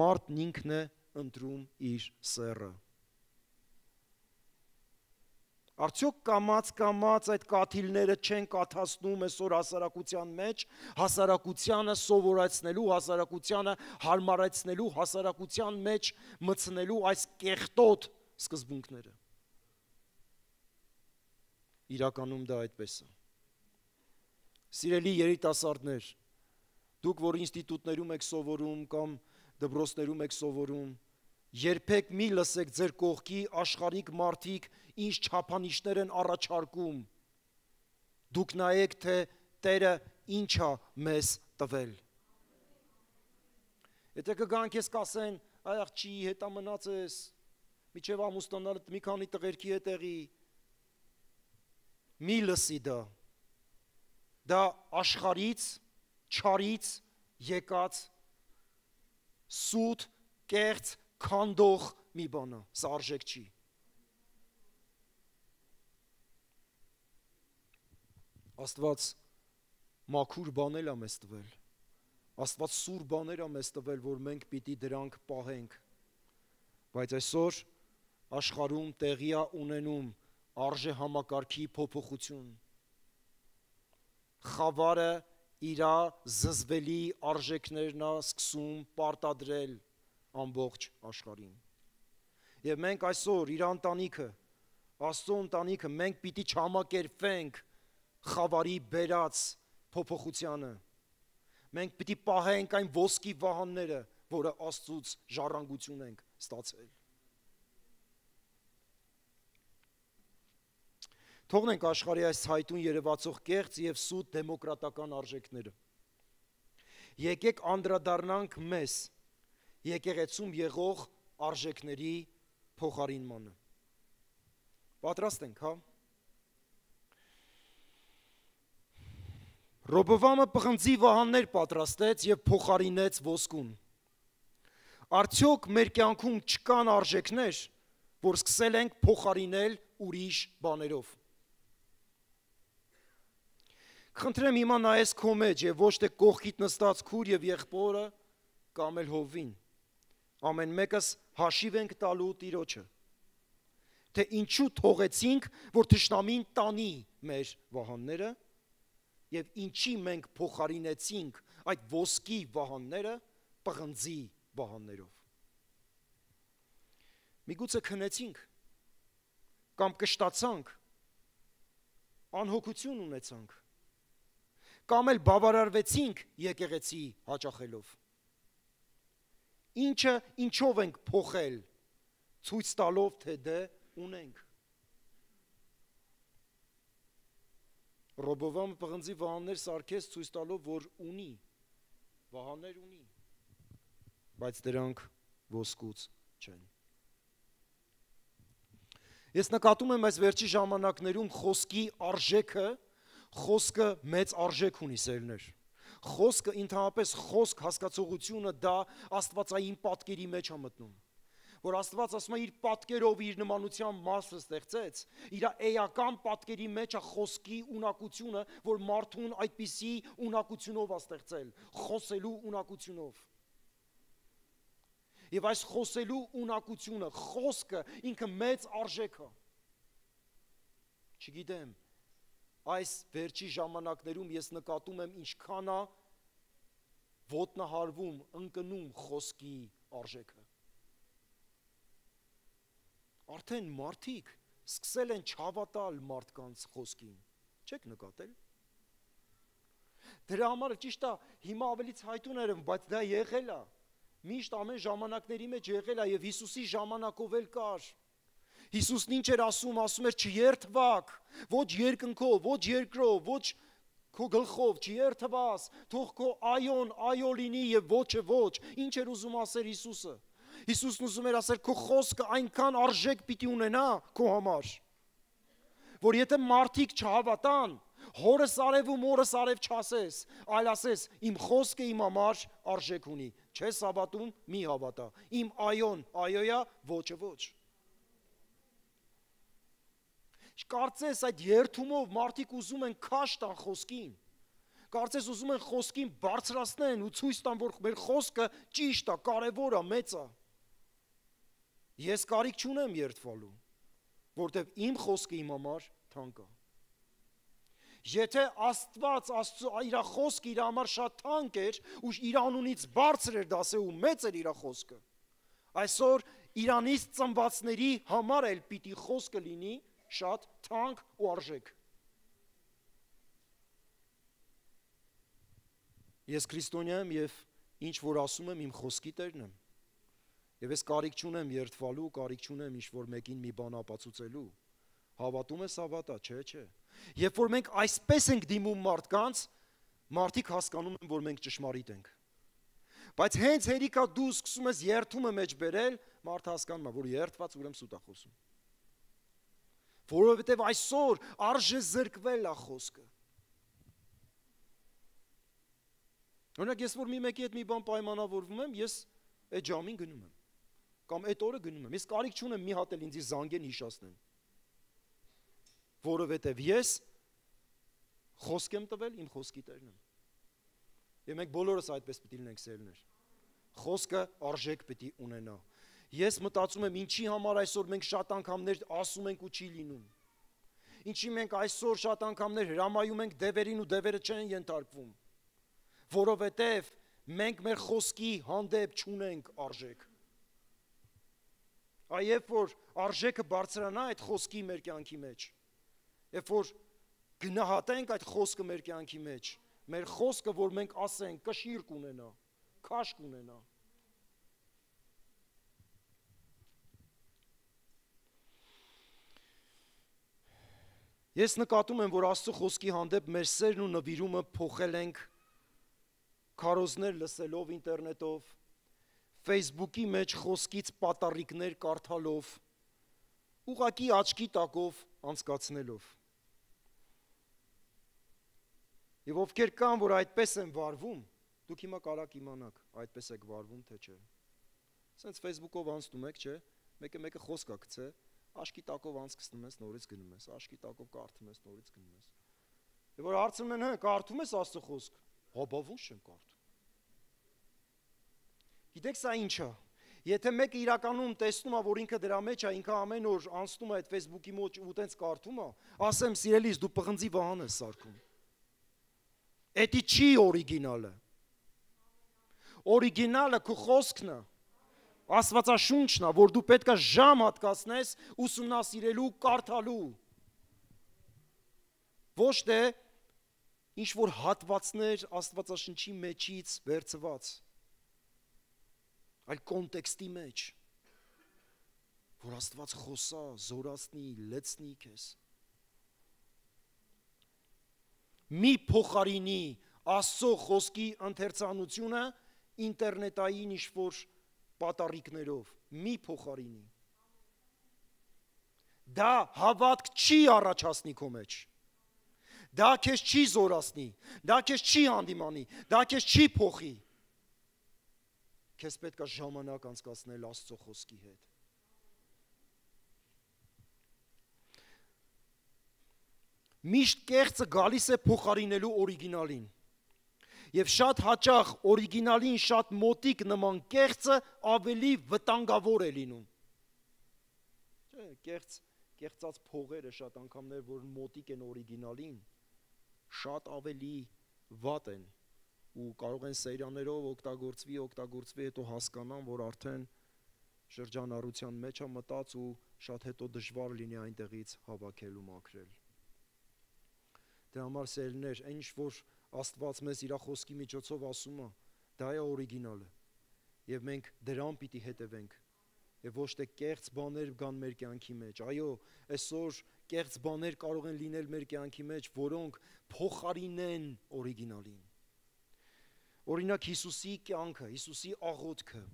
Speaker 1: Մարդն ինքն է ընտրում իր սեռը։ Արդյոք կամած կամած այդ կաթիլները չեն կաթացնում այսօր հասարակության մեջ, հասարակությանը սովորեցնելու, հասարակությանը հարմարեցնելու, հասարակության մեջ մտցնելու այս կեղտոտ սկզբունքները։ Իրականում դա այդպես է։ Սիրելի երիտասարդներ, դուք, որ ինստիտուտներում եք սովորում կամ դպրոցներում եք սովորում, երբեք մի լսեք ձեր կողքի աշխարհիկ մարդիկ ինչ չափանիշներ են առաջարկում։ Դուք նայեք, թե Տերը ինչ է մեզ տվել։ Եթե կգան քեզ կասեն, այ աղջի հետա մնաց ես, միջև ամուսնանալդ մի քանի տղերքի հետ եղի, մի լսի դա։ Դա աշխարից, չարից եկած սուտ, կեղծ, քանդող մի բան է, սա արժեք չի։ Աստված մաքուր բաներ է մեզ տվել, Աստված սուր բաներ է մեզ տվել, որ մենք պիտի դրանք պահենք, բայց այսօր աշխարհում տեղի է ունենում արժե համակարգի փոփոխություն, խավարը իրա զզվելի արժեքներն է սկսում պարտադրել ամբողջ աշխարհին։ Եվ մենք այսօր իր ընտանիքը, Աստծո ընտանիքը, մենք պիտի չհամակերպվենք խավարի բերած փոփոխությանը։ Մենք պիտի պահենք այն ոսկի վահանները, որը Աստծուց ժառանգություն ենք ստացել։ Թողնենք աշխարհի այս ցայտուն երևացող կեղծ եւ սուտ դեմոկրատական արժեքները։ Եկեք անդրադառնանք մեզ եկեղեցում եղող արժեքների փոխարինմանը։ Պատրաստ ենք, հա։ Ռոբովամը պղնձի վահաններ պատրաստեց եւ փոխարինեց ոսկուն։ Արդյոք մեր կյանքում չկան արժեքներ, որ սկսել ենք փոխարինել ուրիշ բաներով։ Խնդրեմ հիմա նայես քո մեջ եւ ոչ թե կողքիդ նստած քուր եւ եղբորը կամ էլ հովին։ Ամեն մեկս հաշիվ ենք տալու Տիրոջը, թե ինչու թողեցինք, որ թշնամին տանի մեր վահանները եւ ինչի մենք փոխարինեցինք այդ ոսկի վահանները պղնձի վահաններով։ Միգուցե քնեցինք կամ կշտացանք, անհոգություն ունեցանք, կամ էլ բավարարվեցինք եկեղեցի հաճախելով։ Ինչը ինչով ենք փոխել, ցույց տալով, թե դե ունենք։ Ռոբովամը պղնձի վահաններ սարքեց ցույց տալով, որ ունի, վահաններ ունի, բայց դրանք ոսկուց չեն։ Ես նկատում եմ այս վերջի ժամանակներում խոսքի արժեքը, խոսքը մեծ արժեք ունի, սերներ։ Խոսքը ընդհանրապես խոսք հասկացողությունը դա աստվածային պատկերի մեջ է մտնում, որ Աստված ասում է իր պատկերով իր նմանության մասը ստեղծեց, իր էական պատկերի մեջ է խոսքի ունակությունը, որ մարդուն այդպիսի ունակությունով է ստեղծել, խոսելու ունակությունով։ Եվ այս խոսելու ունակությունը, խոսքը ինքը մեծ արժեք է։ Չգիտեմ, այս վերջի ժամանակներում ես նկատում եմ ինչքան է ոտնահարվում, ընկնում խոսքի արժեքը։ Արդեն մարդիկ սկսել են չհավատալ մարդկանց խոսքին, չեք նկատել։ Դրա համար ճիշտ է, հիմա ավելի ցայտուն էր, բայց դա եղել է։ Միշտ ամեն ժամանակների մեջ եղել է եւ Հիսուսի ժամանակով էլ կար։ Հիսուսն ինչ էր ասում, ասում էր չերթվակ, ոչ երկնքով, ոչ երկրով, ոչ քո գլխով, չերթվաս, թող քո այոն այո լինի եւ ոչը ոչ։ Ինչ էր ուզում ասել Հիսուսը։ Հիսուսն ուզում էր ասել քո խոսքը այնքան արժեք պիտի ունենա քո համար, որ եթե մարդիկ չհավատան, հորս արև ու մորս արև չասես, այլ ասես իմ խոսքը իմ համար արժեք ունի, չես հավատում, մի հավատա, իմ այոն այոյա, ոչը ոչ։ Կարծես այդ երթումով մարդիկ ուզում են քաշ տան խոսքին, կարծես ուզում են խոսքին բարձրացնեն ու ցույց տան, որ մեր խոսքը ճիշտ է, կարևոր է, մեծ է։ Ես կարիք չունեմ երթվալու, որտեվ իմ խոսքը իմ համար թանկ է։ Եթե Աստված Աստծո իր խոսքը իր համար շատ թանկ էր ու իր անունից բարձր էր դասել ու մեծ էր իր խոսքը, այսօր Իրանից ծնվածների համար էլ պիտի խոսքը լինի շատ թանկ ու արժեք։ Ես քրիստոնյա եմ եւ ինչ որ ասում եմ իմ խոսքի տերն եմ։ Եվ ես կարիք չունեմ երդվալու, կարիք չունեմ ինչ որ մեկին մի բան ապացուցելու։ Հավատում ես հավատա, չէ, չէ։ Երբ որ մենք այսպես ենք դիմում մարդկանց, մարդիկ հասկանում են, որ մենք ճշմարիտ ենք։ Բայց հենց հերիքա դու սկսում ես երդումը մեջ բերել, մարդը հասկանում է, որ երդված ուրեմն սուտ է խոսում։ Որովհետև այսօր արժե զրկվել է խոսքը։ Օրինակ ես որ մի մեկի հետ մի բան պայմանավորվում եմ, ես այդ ժամին գնում եմ, կամ այդ օրը գնում եմ։ Ես կարիք չունեմ մի հատ էլ ինձ զանգեն հիշացնեն։ Որովհետև ես խոսք եմ տվել, իմ խոսքի տերն եմ։ Եվ մենք բոլորս այդպես պիտի լինենք սերներ։ Խոսքը արժեք պիտի ունենա։ Ես մտածում եմ, ինչի համար այսօր մենք շատ անգամներ ասում ենք ու չի լինում։ Ինչի մենք այսօր շատ անգամներ հրամայում ենք դևերին ու դևերը չեն ենթարկվում։ Որովհետև մենք մեր խոսքի հանդեպ չունենք արժեք։ Այ երբ որ արժեքը բարձրանա այդ խոսքի մեր կյանքի մեջ, երբ որ գնահատենք այդ խոսքը մեր կյանքի մեջ, մեր խոսքը, որ մենք ասենք, կշիռ կունենա, քաշ կունենա։ Ես նկատում եմ, որ Աստծո խոսքի հանդեպ մեր սերն ու նվիրումը փոխել ենք քարոզներ լսելով ինտերնետով, Facebook-ի մեջ խոսքից պատառիկներ կարդալով, ուղղակի աչքի տակով անցկացնելով։ Եվ ովքեր կան, որ այդպես են վարվում, դուք հիմա կարաք իմանաք, այդպես եք վարվում, թե չէ։ Սենց Facebook-ով անցնում եք, չէ, մեկը մեկը խոսք է գցե, աչքի տակով անցկացնում ես, նորից գնում ես, աչքի տակով կարդում ես, նորից գնում ես։ Եվ որ հարցնում են, հա, կարդում ես Աստծո խոսք։ Հա, բա ո՞նց չեմ կարդում։ Գիտեք սա ինչ է։ Եթե մեկը իրականում տեսնում է, որ ինքը դրա մեջ է, ինքը ամեն օր անցնում է այդ Facebook-ի մոտ ու տենց կարդում է, ասեմ, սիրելիս, դու պղնձի վահան ես սարքում։ Էդի չի օրիգինալը։ Օրիգինալը քո խոսքն է, Աստվածաշունչն է, որ դու պետք է ժամ հատկացնես ուսումնասիրելու, կարդալու։ Ոչ թե ինչ որ հատվածներ Աստվածաշնչի մեջից վերցված, այլ կոնտեքստի մեջ, որ Աստված խոսա, զորացնի, լեցնի քեզ։ Մի փոխարինի Աստծո խոսքի ընթերցանությունը ինտերնետային ինչ-որ պատառիկներով, մի փոխարինի։ Դա հավատք չի առաջացնի քո մեջ։ Դա քեզ չի զորացնի, դա քեզ չի հանդիմանի, դա քեզ չի փոխի։ Քեզ պետք է ժամանակ անցկացնել Աստծո խոսքի հետ։ Միշտ կեղծը գալիս է փոխարինելու օրիգինալին։ Եվ շատ հաճախ օրիգինալին շատ մոտիկ նման կեղծը ավելի վտանգավոր է լինում։ Չէ, կեղծ, կեղծած փողերը շատ անգամներ, որ մոտիկ են օրիգինալին, շատ ավելի վատ են ու կարող են սերիաներով օգտագործվի, օգտագործվի, հետո հասկանան, որ արդեն շրջանառության մեջ է մտած ու շատ հետո դժվար լինի այնտեղից հավաքել ու մաքրել։ Դրա համար սերներ, այն ինչ որ Աստված մեզ իր խոսքի միջոցով ասում է, դա է օրիգինալը։ Եվ մենք դրան պիտի հետևենք։ Եվ ոչ թե կեղծ բաներ գան մեր կյանքի մեջ։ Այո, այսօր կեղծ բաներ կարող են լինել մեր կյանքի մեջ, որոնք փոխարինեն օրիգինալին։ Օրինակ Հիսուսի կյանքը, Հիսուսի աղոթքը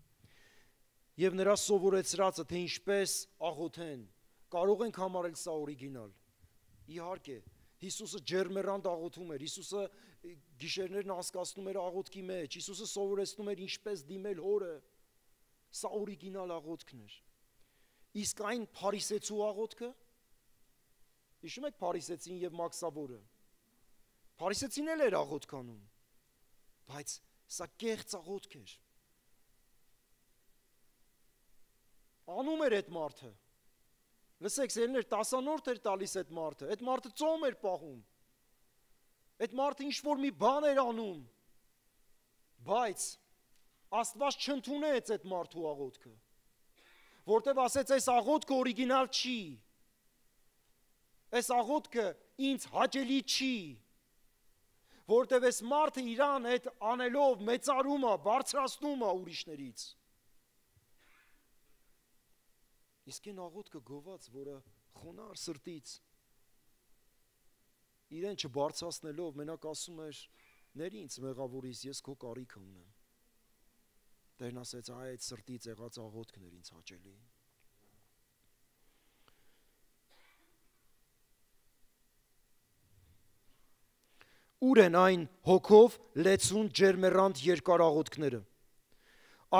Speaker 1: եւ նրա սովորեցրածը, թե ինչպես աղոթեն, կարող ենք համարել սա օրիգինալ։ Իհարկե, Հիսուսը ջերմեռանդ աղոթում էր, Հիսուսը գիշերներն անցկացնում էր աղոթքի մեջ, Հիսուսը սովորեցնում էր ինչպես դիմել Հորը, սա օրիգինալ աղոթքն էր։ Իսկ այն փարիսեցու աղոթքը, հիշում եք փարիսեցին եւ մաքսավորը, փարիսեցին էլ էր աղոթք անում, բայց սա կեղծ աղոթք էր։ Անում էր այդ մարդը, Լսեք, սերներ, տասանորդ էր տալիս այդ մարդը, այդ մարդը ծոմ էր պահում, այդ մարդը ինչ-որ մի բան էր անում, բայց Աստված չընդունեց այդ մարդու աղոթքը, որտև ասեց, այս աղոթքը օրիգինալ չի, այս աղոթքը ինձ հաճելի չի, որտև այս մարդը իրան այդ անելով մեծարում է, բարձրացնում է ուրիշներից, իսկ այն աղոթքը գոված, որը խոնար սրտից, իրեն չբարձրացնելով, մենակ ասում էր, ներ ինձ մեղավորից, ես քո կարիքը ունեմ, Տերն ասեց, այ այդ սրտից եղած աղոթքն էր ինձ հաճելի, ուր են այն հոգով լեցուն ջերմեռանդ երկար աղոթքները,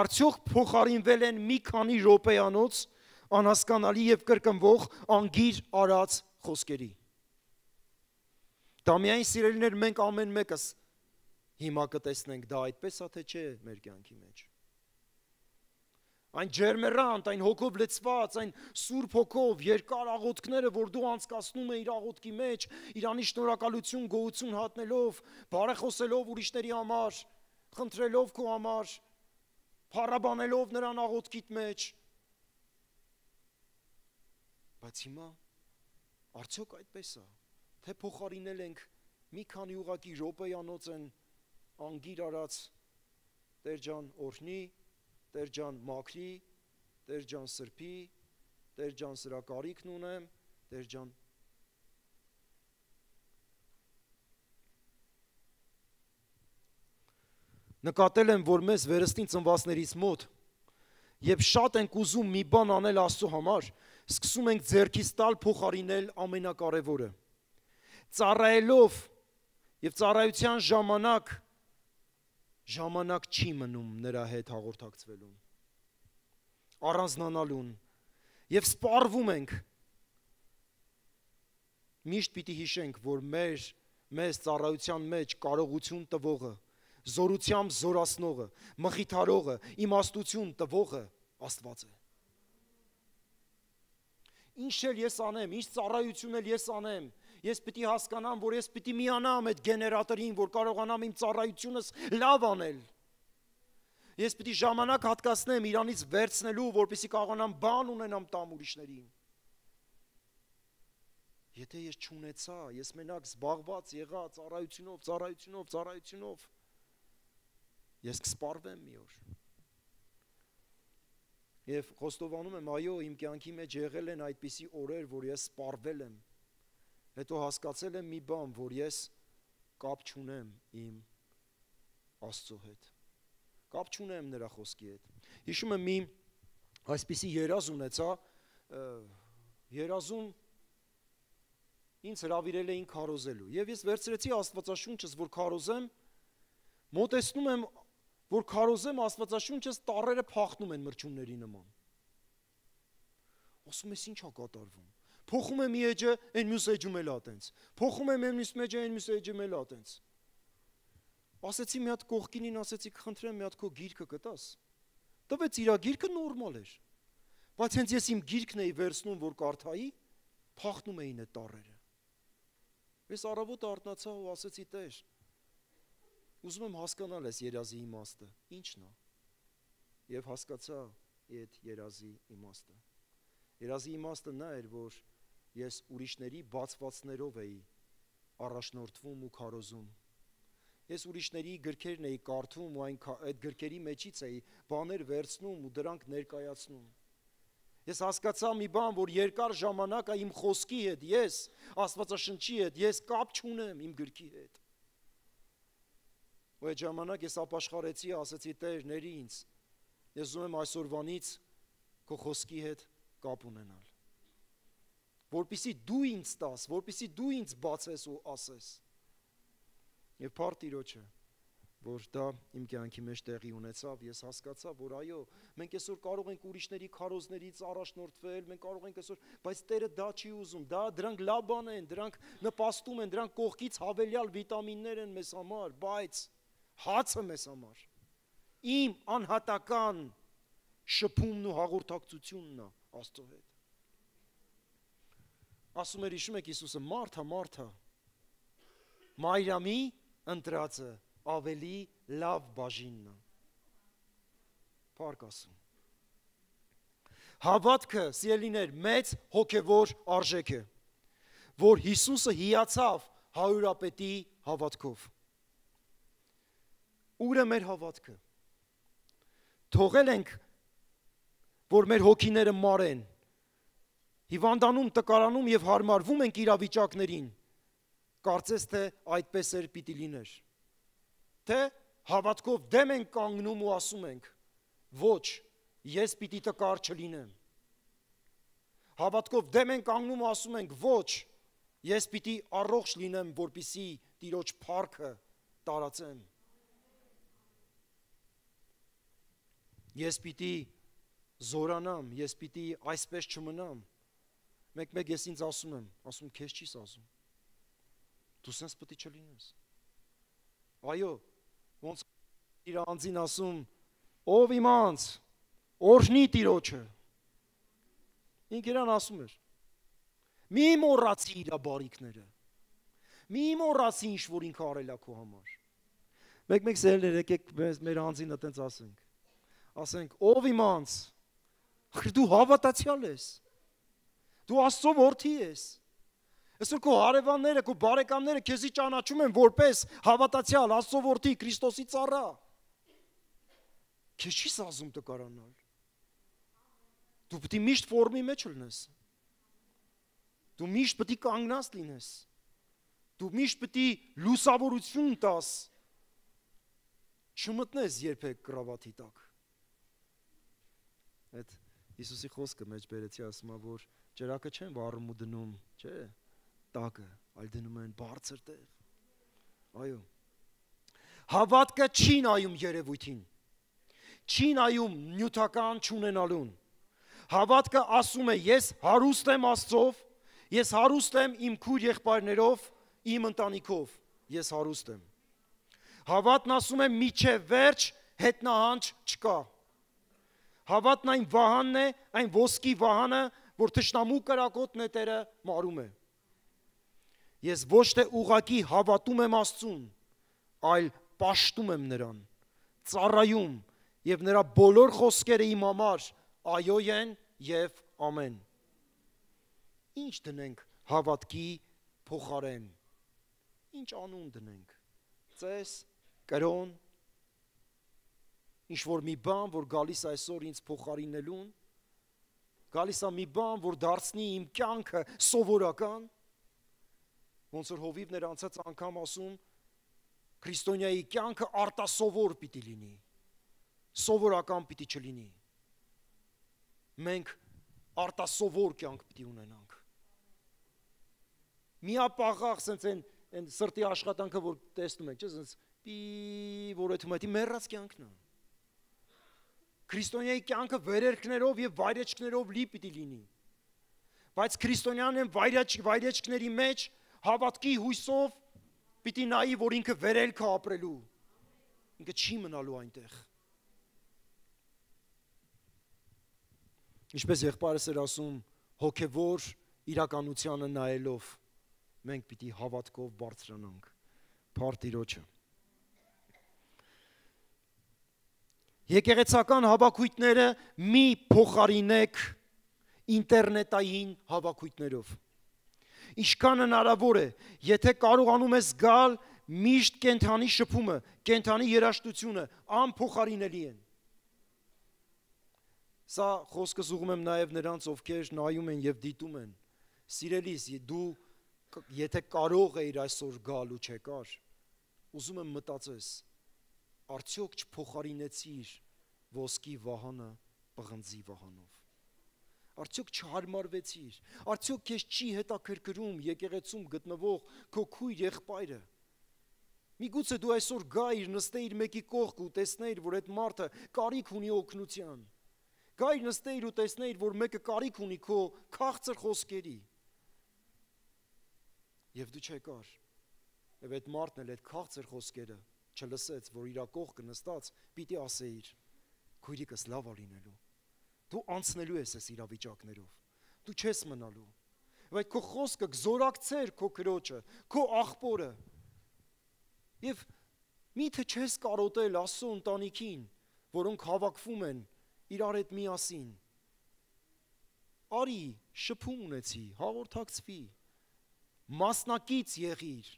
Speaker 1: արդյոք փոխարինվել են մի քանի րոպեանոց, անհասկանալի և կրկնվող անգիր արած խոսքերի։ Դա միայն սիրելիներ մենք ամեն մեկս հիմա կտեսնենք, դա այդպես է թե չէ մեր կյանքի մեջ։ Այն ջերմեռանդ, այն հոգով լցված, այն սուրբ հոգով, երկար աղոթքները, որ դու անցկացնում ես իր աղոթքի մեջ, Իրանի շնորհակալություն, գոհություն հատնելով, բարեխոսելով ուրիշների համար, խնդրելով քո համար, փառաբանելով նրան աղոթքիդ մեջ, բայց հիմա արդյոք այդպես է, թե փոխարինել ենք մի քանի ուղղակի րոպեյանոց են անգիր արած Տեր ջան օրհնի, Տեր ջան մաքրի, Տեր ջան սրբի, Տեր ջան սրա կարիքն ունեմ, Տեր ջան նկատել եմ, որ մեզ վերստին ծնվածներից մոտ Եվ շատ ենք ուզում մի բան անել Աստծո համար, սկսում ենք ձեռքից տալ փոխարինել ամենակարևորը։ Ծառայելով եւ ծառայության ժամանակ ժամանակ չի մնում նրա հետ հաղորդակցվելուն, առանձնանալուն եւ սպառվում ենք։ Միշտ պիտի հիշենք, որ մեր մեզ ծառայության մեջ կարողություն տվողը, զորությամբ զորացնողը, մխիթարողը, իմաստություն տվողը Աստված է։ Ինչ էլ ես անեմ, ինչ ծառայություն էլ ես անեմ, ես պիտի հասկանամ, որ ես պիտի միանամ այդ գեներատորին, որ կարողանամ իմ ծառայությունս լավ անել։ Ես պիտի ժամանակ հատկացնեմ իրանից վերցնելու, որպեսզի կարողանամ բան ունենամ տամ ուրիշներին։ Եթե ես չունեցա, ես մենակ զբաղված եղա ծառայությունով, ծառայությունով, ծառայությունով, ես կսպառվեմ մի օր։ Եվ խոստովանում եմ, այո, իմ կյանքի մեջ եղել են այդպիսի օրեր, որ ես սպառվել եմ, հետո հասկացել եմ մի բան, որ ես կապ չունեմ իմ Աստծո հետ, կապ չունեմ նրա խոսքի հետ։ Հիշում եմ մի այսպիսի երազ ունեցա, երազում ինձ հրավիրել էին քարոզելու, եւ ես վերցրեցի Աստվածաշունչս, որ քարոզեմ, մոտեցնում եմ, որ քարոզեմ Աստվածաշունչս, տառերը փախնում են մրջունների նման։ Ասում ես ինչ է կատարվում։ Փոխում եմ մի էջը, այն մյուս էջում էլ ատենց։ Փոխում եմ այն մյուս էջը, այն մյուս էջում էլ ատենց։ Ասեցի մի հատ կողքինին, ասեցի կխնդրեմ մի հատ քո գիրքը կտաս։ Տվեց իր գիրքը նորմալ էր։ Բայց հենց ես իմ գիրքն էի վերցնում, որ կարդայի, փախնում էին այդ տառերը։ Ես առավոտը արթնացա ու ասեցի Տեր, ուզում եմ հասկանալ այս երազի իմաստը, ի՞նչն է։ Եվ հասկացա այդ երազի իմաստը։ Երազի իմաստը նա էր, որ ես ուրիշների բացվածներով էի առաջնորդվում ու քարոզում։ Ես ուրիշների գրքերն էի կարդում ու այն այդ գրքերի մեջից էի բաներ վերցնում ու դրանք ներկայացնում։ Ես հասկացա մի բան, որ երկար ժամանակ է իմ խոսքի հետ, ես Աստվածաշնչի հետ, ես կապ չունեմ իմ գրքի հետ։ Ու այդ ժամանակ ես ապաշխարեցի, ասեցի Տեր, ների ինձ, ես ուզում եմ այսօրվանից քո խոսքի հետ կապ ունենալ, որպեսզի դու ինձ տաս, որպեսզի դու ինձ բացես ու ասես։ Եվ փառք Տիրոջը, որ դա իմ կյանքի մեջ տեղի ունեցավ, ես հասկացա, որ այո, մենք այսօր կարող ենք ուրիշների քարոզներից առաջնորդվել, մենք կարող ենք այսօր, բայց Տերը դա չի ուզում, դա դրանք լավ բան են, դրանք նպաստում են, դրանք կողքից հավելյալ վիտամիններ են մեզ համար, բայց հացը մեզ համար, իմ անհատական շփումն ու հաղորդակցությունն է Աստծո հետ։ ասում էր հիշում եք Հիսուսը Մարթա, Մարթա, Մարիամի ընտրածը ավելի լավ բաժինն է։ Փառք ասում։ Հավատքը, սիրելիներ, մեծ հոգևոր արժեք է, որ Հիսուսը հիացավ հարյուրապետի հավատքով։ Ուր է մեր հավատքը։ Թողել ենք, որ մեր հոգիները մարեն, հիվանդանում, տկարանում և հարմարվում ենք իրավիճակներին, կարծես թե այդպես էր պիտի լիներ, թե հավատքով դեմ ենք կանգնում ու ասում ենք, ոչ, ես պիտի տկար չլինեմ, հավատքով դեմ ենք կանգնում ու ասում ենք, ոչ, ես պիտի առողջ լինեմ, որպեսզի Տիրոջ փառքը տարածեմ, ես պիտի զորանամ, ես պիտի այսպես չմնամ, մեկ-մեկ ես ինձ ասում եմ, ասում քեզ չիս ասում, դու սենց պտի չլինես, այո, ոնց իր անձին ասում, ով իմ անձ, օրհնի Տիրոջը, ինք իրան ասում էր, մի մոռացի իր բարիքները, մի մոռացի ինչ որ ինքը արել է քո համար, մեկ-մեկ սերներ եկեք մեր անձին այտենց ասենք, ասենք, ով իմ անձ, դու հավատացյալ ես, դու Աստծո որդի ես, այսօր քո հարևանները, քո բարեկամները քեզի ճանաչում են որպես հավատացյալ, Աստծո որդի, Քրիստոսի ծառա, քեզ չիս ասում տկարանալ, դու պիտի միշտ ֆորմի մեջ լինես, դու միշտ պիտի կանգնած լինես, դու միշտ պիտի լուսավորություն տաս, չմտնես երբեք կրավաթի տակ, այդ Հիսուսի խոսքը մեջ բերեցի ասում, որ ճրակը չեն վառում ու դնում, չէ, տակը, այլ դնում են բարձր տեղ, այո, հավատքը չի նայում երևույթին, չի նայում նյութական չունենալուն, հավատքը ասում է, ես հարուստ եմ Աստծով, ես հարուստ եմ իմ քույր եղբայրներով, իմ ընտանիքով, ես հարուստ եմ, հավատն ասում է, միջև վերջ հետնահանջ չկա, հավատն այն վահանն է, այն ոսկի վահանը, որ թշնամու կրակոտ նետերը մարում է, ես ոչ թե ուղղակի հավատում եմ Աստծուն, այլ պաշտում եմ նրան, ծառայում և նրա բոլոր խոսքերը իմ համար այո են և ամեն, ինչ դնենք հավատքի փոխարեն, ինչ անուն դնենք, ծես, կրոն, ինչ-որ մի բան, որ գալիս այսօր ինձ փոխարինելուն, գալիս է մի բան, որ դարձնի իմ կյանքը սովորական, ոնց որ Հովիվն էր անցած անգամ ասում, քրիստոնյայի կյանքը արտասովոր պիտի լինի, սովորական պիտի չլինի, մենք արտասովոր կյանք պիտի ունենանք, միապաղաղ սենց են սրտի աշխատանքը, որ տեսնում ենք, չէ, սենց պի, որ էթում էթի մեռած կյանքն է, քրիստոնյայի կյանքը վերերքներով և վայրեջքներով լի պիտի լինի, բայց քրիստոնյան են վայրեջքների մեջ հավատքի հույսով պիտի նայի, որ ինքը վերելք է ապրելու, ինքը չի մնալու այնտեղ, ինչպես եղբայրս էր ասում, հոգևոր իրականությանը նայելով, մենք պիտի հավատքով բարձրանանք, փառք Տիրոջը։ Եկեղեցական հավաքույթները մի փոխարինեք ինտերնետային հավաքույթներով։ Ինչքան հնարավոր է, եթե կարողանում ես գալ, միշտ կենթանի շփումը, կենթանի երաժշտությունը անփոխարինելի են։ Սա խոսքս ուղղում եմ նաև նրանց, ովքեր նայում են և դիտում են։ Սիրելիս, դու եթե կարող էիր այսօր գալ ու չեկար, ուզում եմ մտածես, արդյոք չփոխարինեցիր ոսկի վահանը պղնձի վահանով, արդյոք չհարմարվեցիր, արդյոք քեզ չի հետաքրքրում եկեղեցում գտնվող քո քույր եղբայրը, միգուցե դու այսօր գայիր, նստեիր մեկի կողք ու տեսնեիր, որ այդ մարդը կարիք ունի օգնության, գայիր նստեիր ու տեսնեիր, որ մեկը կարիք ունի քո քաղցր խոսքերի, և դու չեկար, և այդ մարդն էլ այդ քաղցր խոսքերը չլսեց, որ իրա կողքը նստած պիտի ասեիր, քույրիկս լավ է լինելու, դու անցնելու ես այս իրավիճակներով, դու չես մնալու, Բայց քո խոսքը կզորակցեր քո քրոջը, քո աղբորը։ Եվ միթե չես կարոտել Աստծո ընտանիքին, որոնք հավաքվում են իրար հետ միասին։ Արի, շփում ունեցի, հաղորդակցվի, մասնակից եղիր։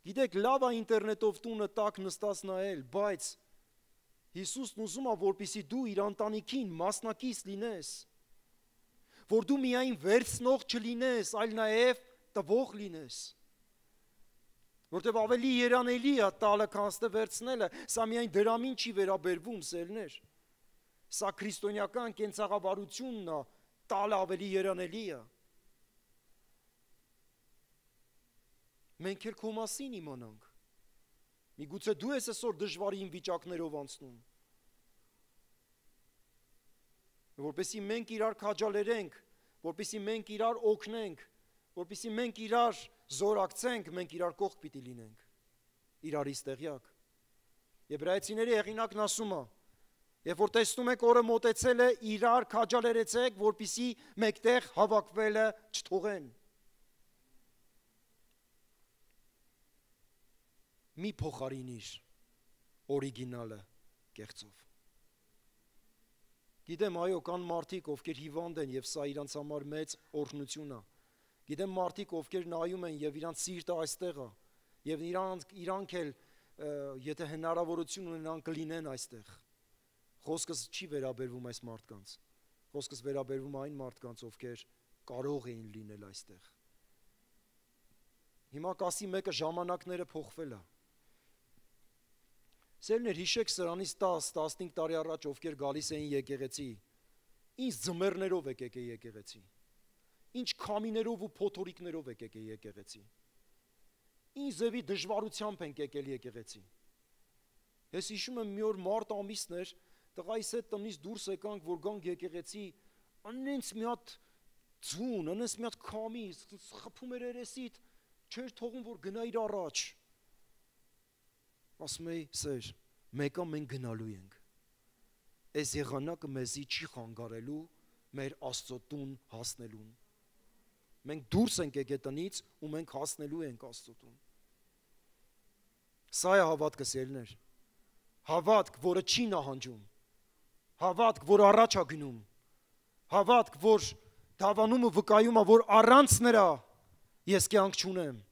Speaker 1: Գիտեք, լավ է ինտերնետով տունը տակ նստած նայել, բայց Հիսուսն ուզում է, որպեսզի դու իր ընտանիքին մասնակից լինես, որ դու միայն վերցնող չլինես, այլ նաև տվող լինես։ Որտեւ ավելի երանելի է տալը, քան ստե վերցնելը, սա միայն դրամին չի վերաբերվում, սերներ։ Սա քրիստոնեական կենցաղավարությունն է, տալը ավելի երանելի է։ Մենք էլ քո մասին իմանանք։ Միգուցե դու ես այսօր դժվարին վիճակներով անցնում։ Որպեսզի մենք իրար քաջալերենք, որպեսզի մենք իրար օգնենք, որպեսզի մենք իրար զորակցենք, մենք իրար կողք պիտի լինենք, իրարից տեղյակ։ Եբրայեցիների հեղինակն ասում է, երբ որ տեսնում եք օրը մոտեցել է, իրար քաջալերեցեք, որպեսզի մեկտեղ հավաքվելը չթողեն։ Մի փոխարինիր օրիգինալը կեղծով։ Գիտեմ, այո, կան մարդիկ, ովքեր հիվանդ են, եւ սա իրանց համար մեծ օրհնություն է։ Գիտեմ մարդիկ, ովքեր նայում են եւ իրանց սիրտը այստեղ է, եւ իրանք իրանք էլ եթե հնարավորություն ունենան կլինեն այստեղ։ Խոսքս չի վերաբերվում այս մարդկանց։ Խոսքս վերաբերվում այն մարդկանց, ովքեր կարող էին լինել այստեղ։ Հիմա կասի մեկը ժամանակները փոխվել է։ Սերներ, հիշեք սրանից տաս տասնհինգ տարի առաջ ովքեր գալիս էին եկեղեցի, ինչ ձմեռներով եկեք է եկեղեցի, ինչ քամիներով ու փոթորիկներով եկեք է եկեղեցի, ինչ ձևի դժվարությամբ ենք եկել եկեղեցի։ Ես հիշում եմ մի օր մարտ ամիսն էր, տղայիս հետ տնից դուրս եկանք, որ գանք եկեղեցի, անենց մի հատ ձուն, անենց մի հատ քամի, խփում էր երեսիդ, չէր թողում, որ գնայիր առաջ։ Ասում էի, սեր, մեկը մենք գնալու ենք։ Այս եղանակը մեզի չի խանգարելու մեր Աստծո տուն հասնելուն։ Մենք դուրս ենք եկել տնից ու մենք հասնելու ենք Աստծո տուն։ Սա է հավատքը, սերներ։ Հավատք, որը չի նահանջում։ Հավատք, որ առաջ է գնում։ Հավատք, որ դավանում ու վկայում է, որ առանց նրա ես կյանք չունեմ։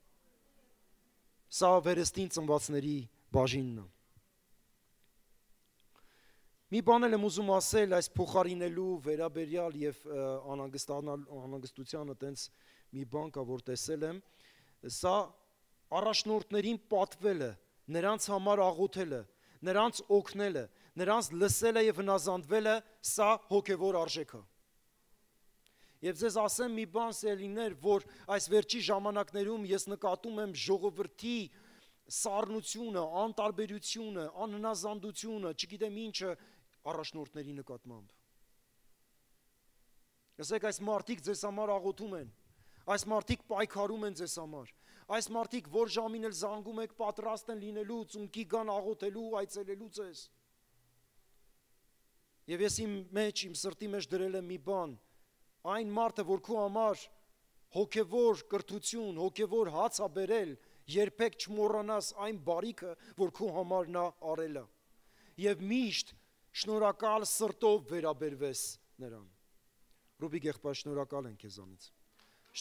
Speaker 1: Սա վերստին ծնվածների բաժինն է։ Մի բան եմ ուզում ասել այս փոխարինելու վերաբերյալ եւ անհանգստությանը տենց մի բան կա, որ տեսել եմ, սա առաջնորդներին պատվելը, նրանց համար աղոթելը, նրանց օգնելը, նրանց լսելը եւ հնազանդվելը, սա հոգեվոր արժեք է։ Եվ ձեզ ասեմ մի բան, սերիներ, որ այս վերջի ժամանակներում ես նկատում եմ ժողովրդի սառնությունը, անտարբերությունը, անհնազանդությունը, չգիտեմ ինչը առաջնորդների նկատմամբ։ Ասեք, այս մարդիկ ձեզ համար աղոթում են, այս մարդիկ պայքարում են ձեզ համար, այս մարդիկ որ ժամին էլ զանգում եք պատրաստ են լինելու, ծունկի գան աղոթելու, այցելելու ձեզ։ Եվ ես իմ մեջ, իմ սրտի մեջ դրել եմ մի բան, այն մարդը, որ քո համար հոգևոր կրթություն, հոգևոր հաց է բերել, երբեք չմոռանաս այն բարիքը, որ քո համար նա արել է։ Եվ միշտ շնորհակալ սրտով վերաբերվես նրան։ Ռուբիկ եղբայր, շնորհակալ ենք քեզանից։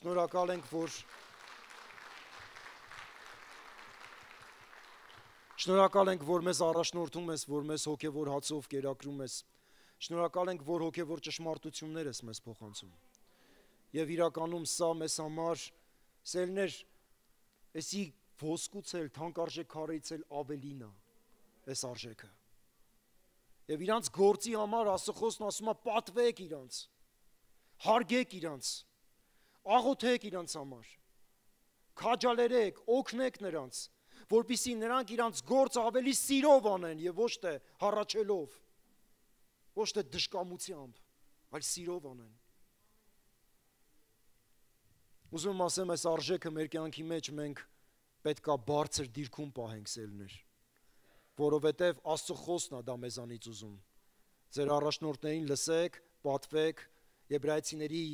Speaker 1: Շնորհակալ ենք, որ Շնորհակալ ենք, որ մեզ առաջնորդում ես, որ մեզ հոգևոր հացով կերակրում ես։ Շնորհակալ ենք, որ հոգևոր ճշմարտություններ ես մեզ փոխանցում։ Եվ իրականում սա մեզ համար սելներ, էսի ոսկուց էլ, թանկարժեք քարից էլ ավելին է, այս արժեքը։ Եվ իրանց գործի համար Աստծո ասում է պատվեք իրանց, հարգեք իրանց, աղոթեք իրանց համար, քաջալերեք, օգնեք նրանց, որպեսզի նրանք իրանց գործը ավելի սիրով անեն եւ ոչ թե հառաչելով, ոչ թե դժկամությամբ, այլ սիրով անեն։ Ուզում եմ ասեմ, այս արժեքը մեր կյանքի մեջ մենք պետքա բարձր դիրքում պահենք, սելներ, որովհետև Աստծո խոսքն է դա մեզանից ուզում։ Ձեր առաջնորդներին լսեք, պատվեք, Եբրայեցիների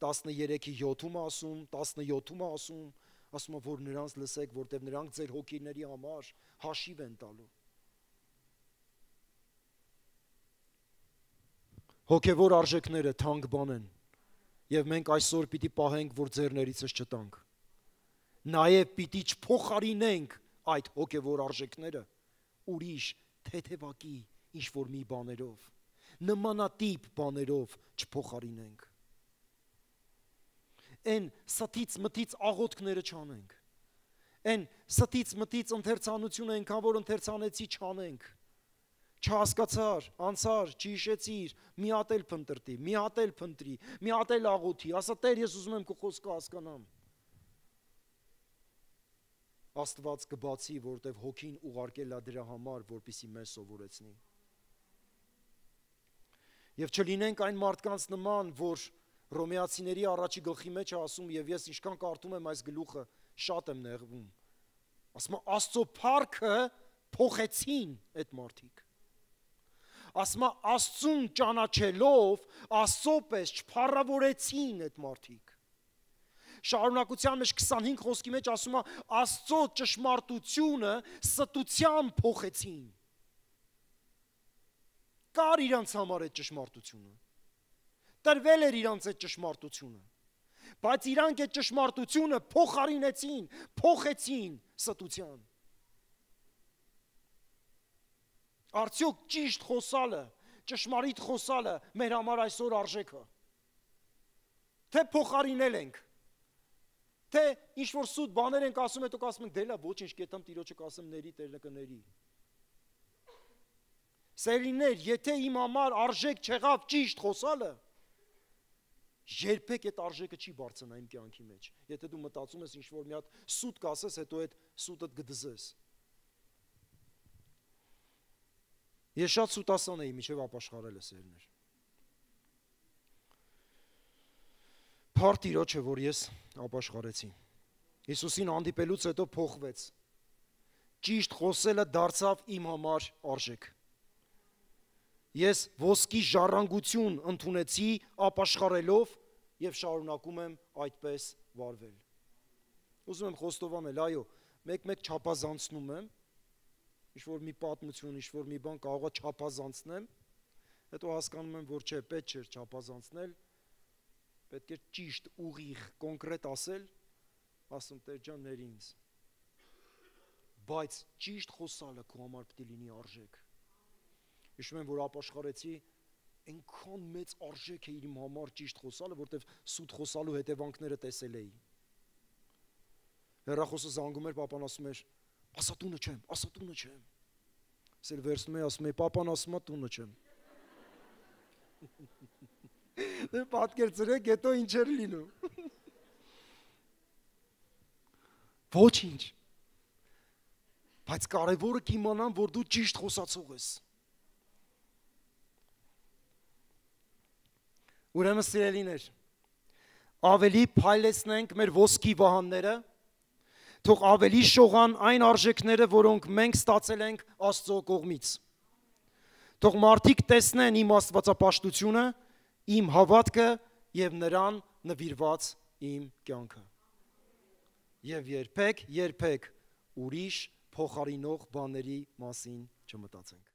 Speaker 1: տասներեքի յոթում ասում, տասնյոթում ասում, ասում որ նրանց լսեք, որտեղ նրանք ձեր հոգիների համար հաշիվ են տալու։ Հոգևոր արժեքները թանկ բան են, եւ մենք այսօր պիտի պահենք, որ ձեռներիցս չտանք։ Նաեւ պիտի չփոխարինենք այդ հոգևոր արժեքները ուրիշ թեթևակի ինչ որ մի բաներով, նմանատիպ բաներով չփոխարինենք։ Այն ստից մտից աղոթքները չանենք, այն ստից մտից ընթերցանությունը այնքան որ ընթերցանեցի չանենք, չհասկացար, անցար, չհիշեցիր, մի հատ էլ փնտրտի, մի հատ էլ փնտրի, մի հատ էլ աղոթի, ասա Տեր, ես ուզում եմ քո խոսքը հասկանամ։ Աստված կբացի, որտեվ հոգին ուղարկել է դրա համար, որպեսզի մեզ սովորեցնի։ Եվ չլինենք այն մարդկանց նման, որ Հռոմեացիների առաջի գլխի մեջ է ասում, եւ ես ինչքան կարդում եմ այս գլուխը, շատ եմ նեղվում։ Ասում է Աստծո փառքը փոխեցին այդ մարդիկ։ Ասում է Աստծուն ճանաչելով, Աստծո պես չփառավորեցին այդ մարդիկ։ Շարունակության մեջ քսանհինգ խոսքի մեջ ասում է Աստծո ճշմարտությունը ստությամբ փոխեցին։ Կար իրանց համար այդ ճշմարտությունը։ Տրվել էր իրանց այդ ճշմարտությունը, բայց իրանք այդ ճշմարտությունը փոխարինեցին, փոխեցին ստության։ Արդյոք ճիշտ խոսալը, ճշմարիտ խոսալը մեր համար այսօր արժեք է։ Թե փոխարինել ենք, թե ինչ որ սուտ բաներ ենք ասում, հետո ասում ենք դելա ոչինչ կետամ Տիրոջը կասեմ ների Տերը կների։ Սերիներ, եթե իմ համար արժեք չեղավ ճիշտ խոսալը, երբեք այդ արժեքը չի բարձրանա իմ կյանքի մեջ։ Եթե դու մտածում ես ինչ որ մի հատ սուտ կասես, հետո այդ սուտդ կդզես։ Ես շատ սուտասան էի, մինչև ապաշխարել է սերներ։ Փառք Տիրոջը, որ ես ապաշխարեցի։ Հիսուսին հանդիպելուց հետո փոխվեց։ Ճիշտ խոսելը դարձավ իմ համար արժեք։ Ես ոսկի ժառանգություն ընդունեցի ապաշխարելով եւ շարունակում եմ այդպես վարվել։ Ուզում եմ խոստովանել, այո, մեկ-մեկ չափազանցնում եմ, ինչ որ մի պատմություն, ինչ որ մի բան կարող է չափազանցնեմ, հետո հասկանում եմ, որ չէ, պետք չէ չափազանցնել, պետք է ճիշտ, ուղիղ, կոնկրետ ասել, ասում Տեր ջան, ներ ինձ։ Բայց ճիշտ խոսալը քո համար պետք է լինի արժեք։ Հիշում եմ, որ ապաշխարեցի, այնքան մեծ արժեք է իր իմ համար ճիշտ խոսալը, որտեվ սուտ խոսալու հետևանքները տեսել էի։ Հեռախոսը զանգում էր, պապան ասում էր, ասա տունը չեմ, ասա տունը չեմ։ Ես էլ վերցնում էի, ասում էի, պապան ասում է տունը չեմ։ Դե պատկեր ծրեք, հետո ինչ էր լինում։ Ոչինչ։ Բայց կարևորը կիմանամ, որ դու ճիշտ խոսացող ես։ Ուրեմն սիրելիներ, ավելի փայլեցնենք մեր ոսկի վահանները, թող ավելի շողան այն արժեքները, որոնք մենք ստացել ենք Աստծո կողմից։ Թող մարդիկ տեսնեն իմ աստվածապաշտությունը, իմ հավատքը եւ նրան նվիրված իմ կյանքը։ Եվ երբեք, երբեք ուրիշ փոխարինող բաների մասին չմտածենք։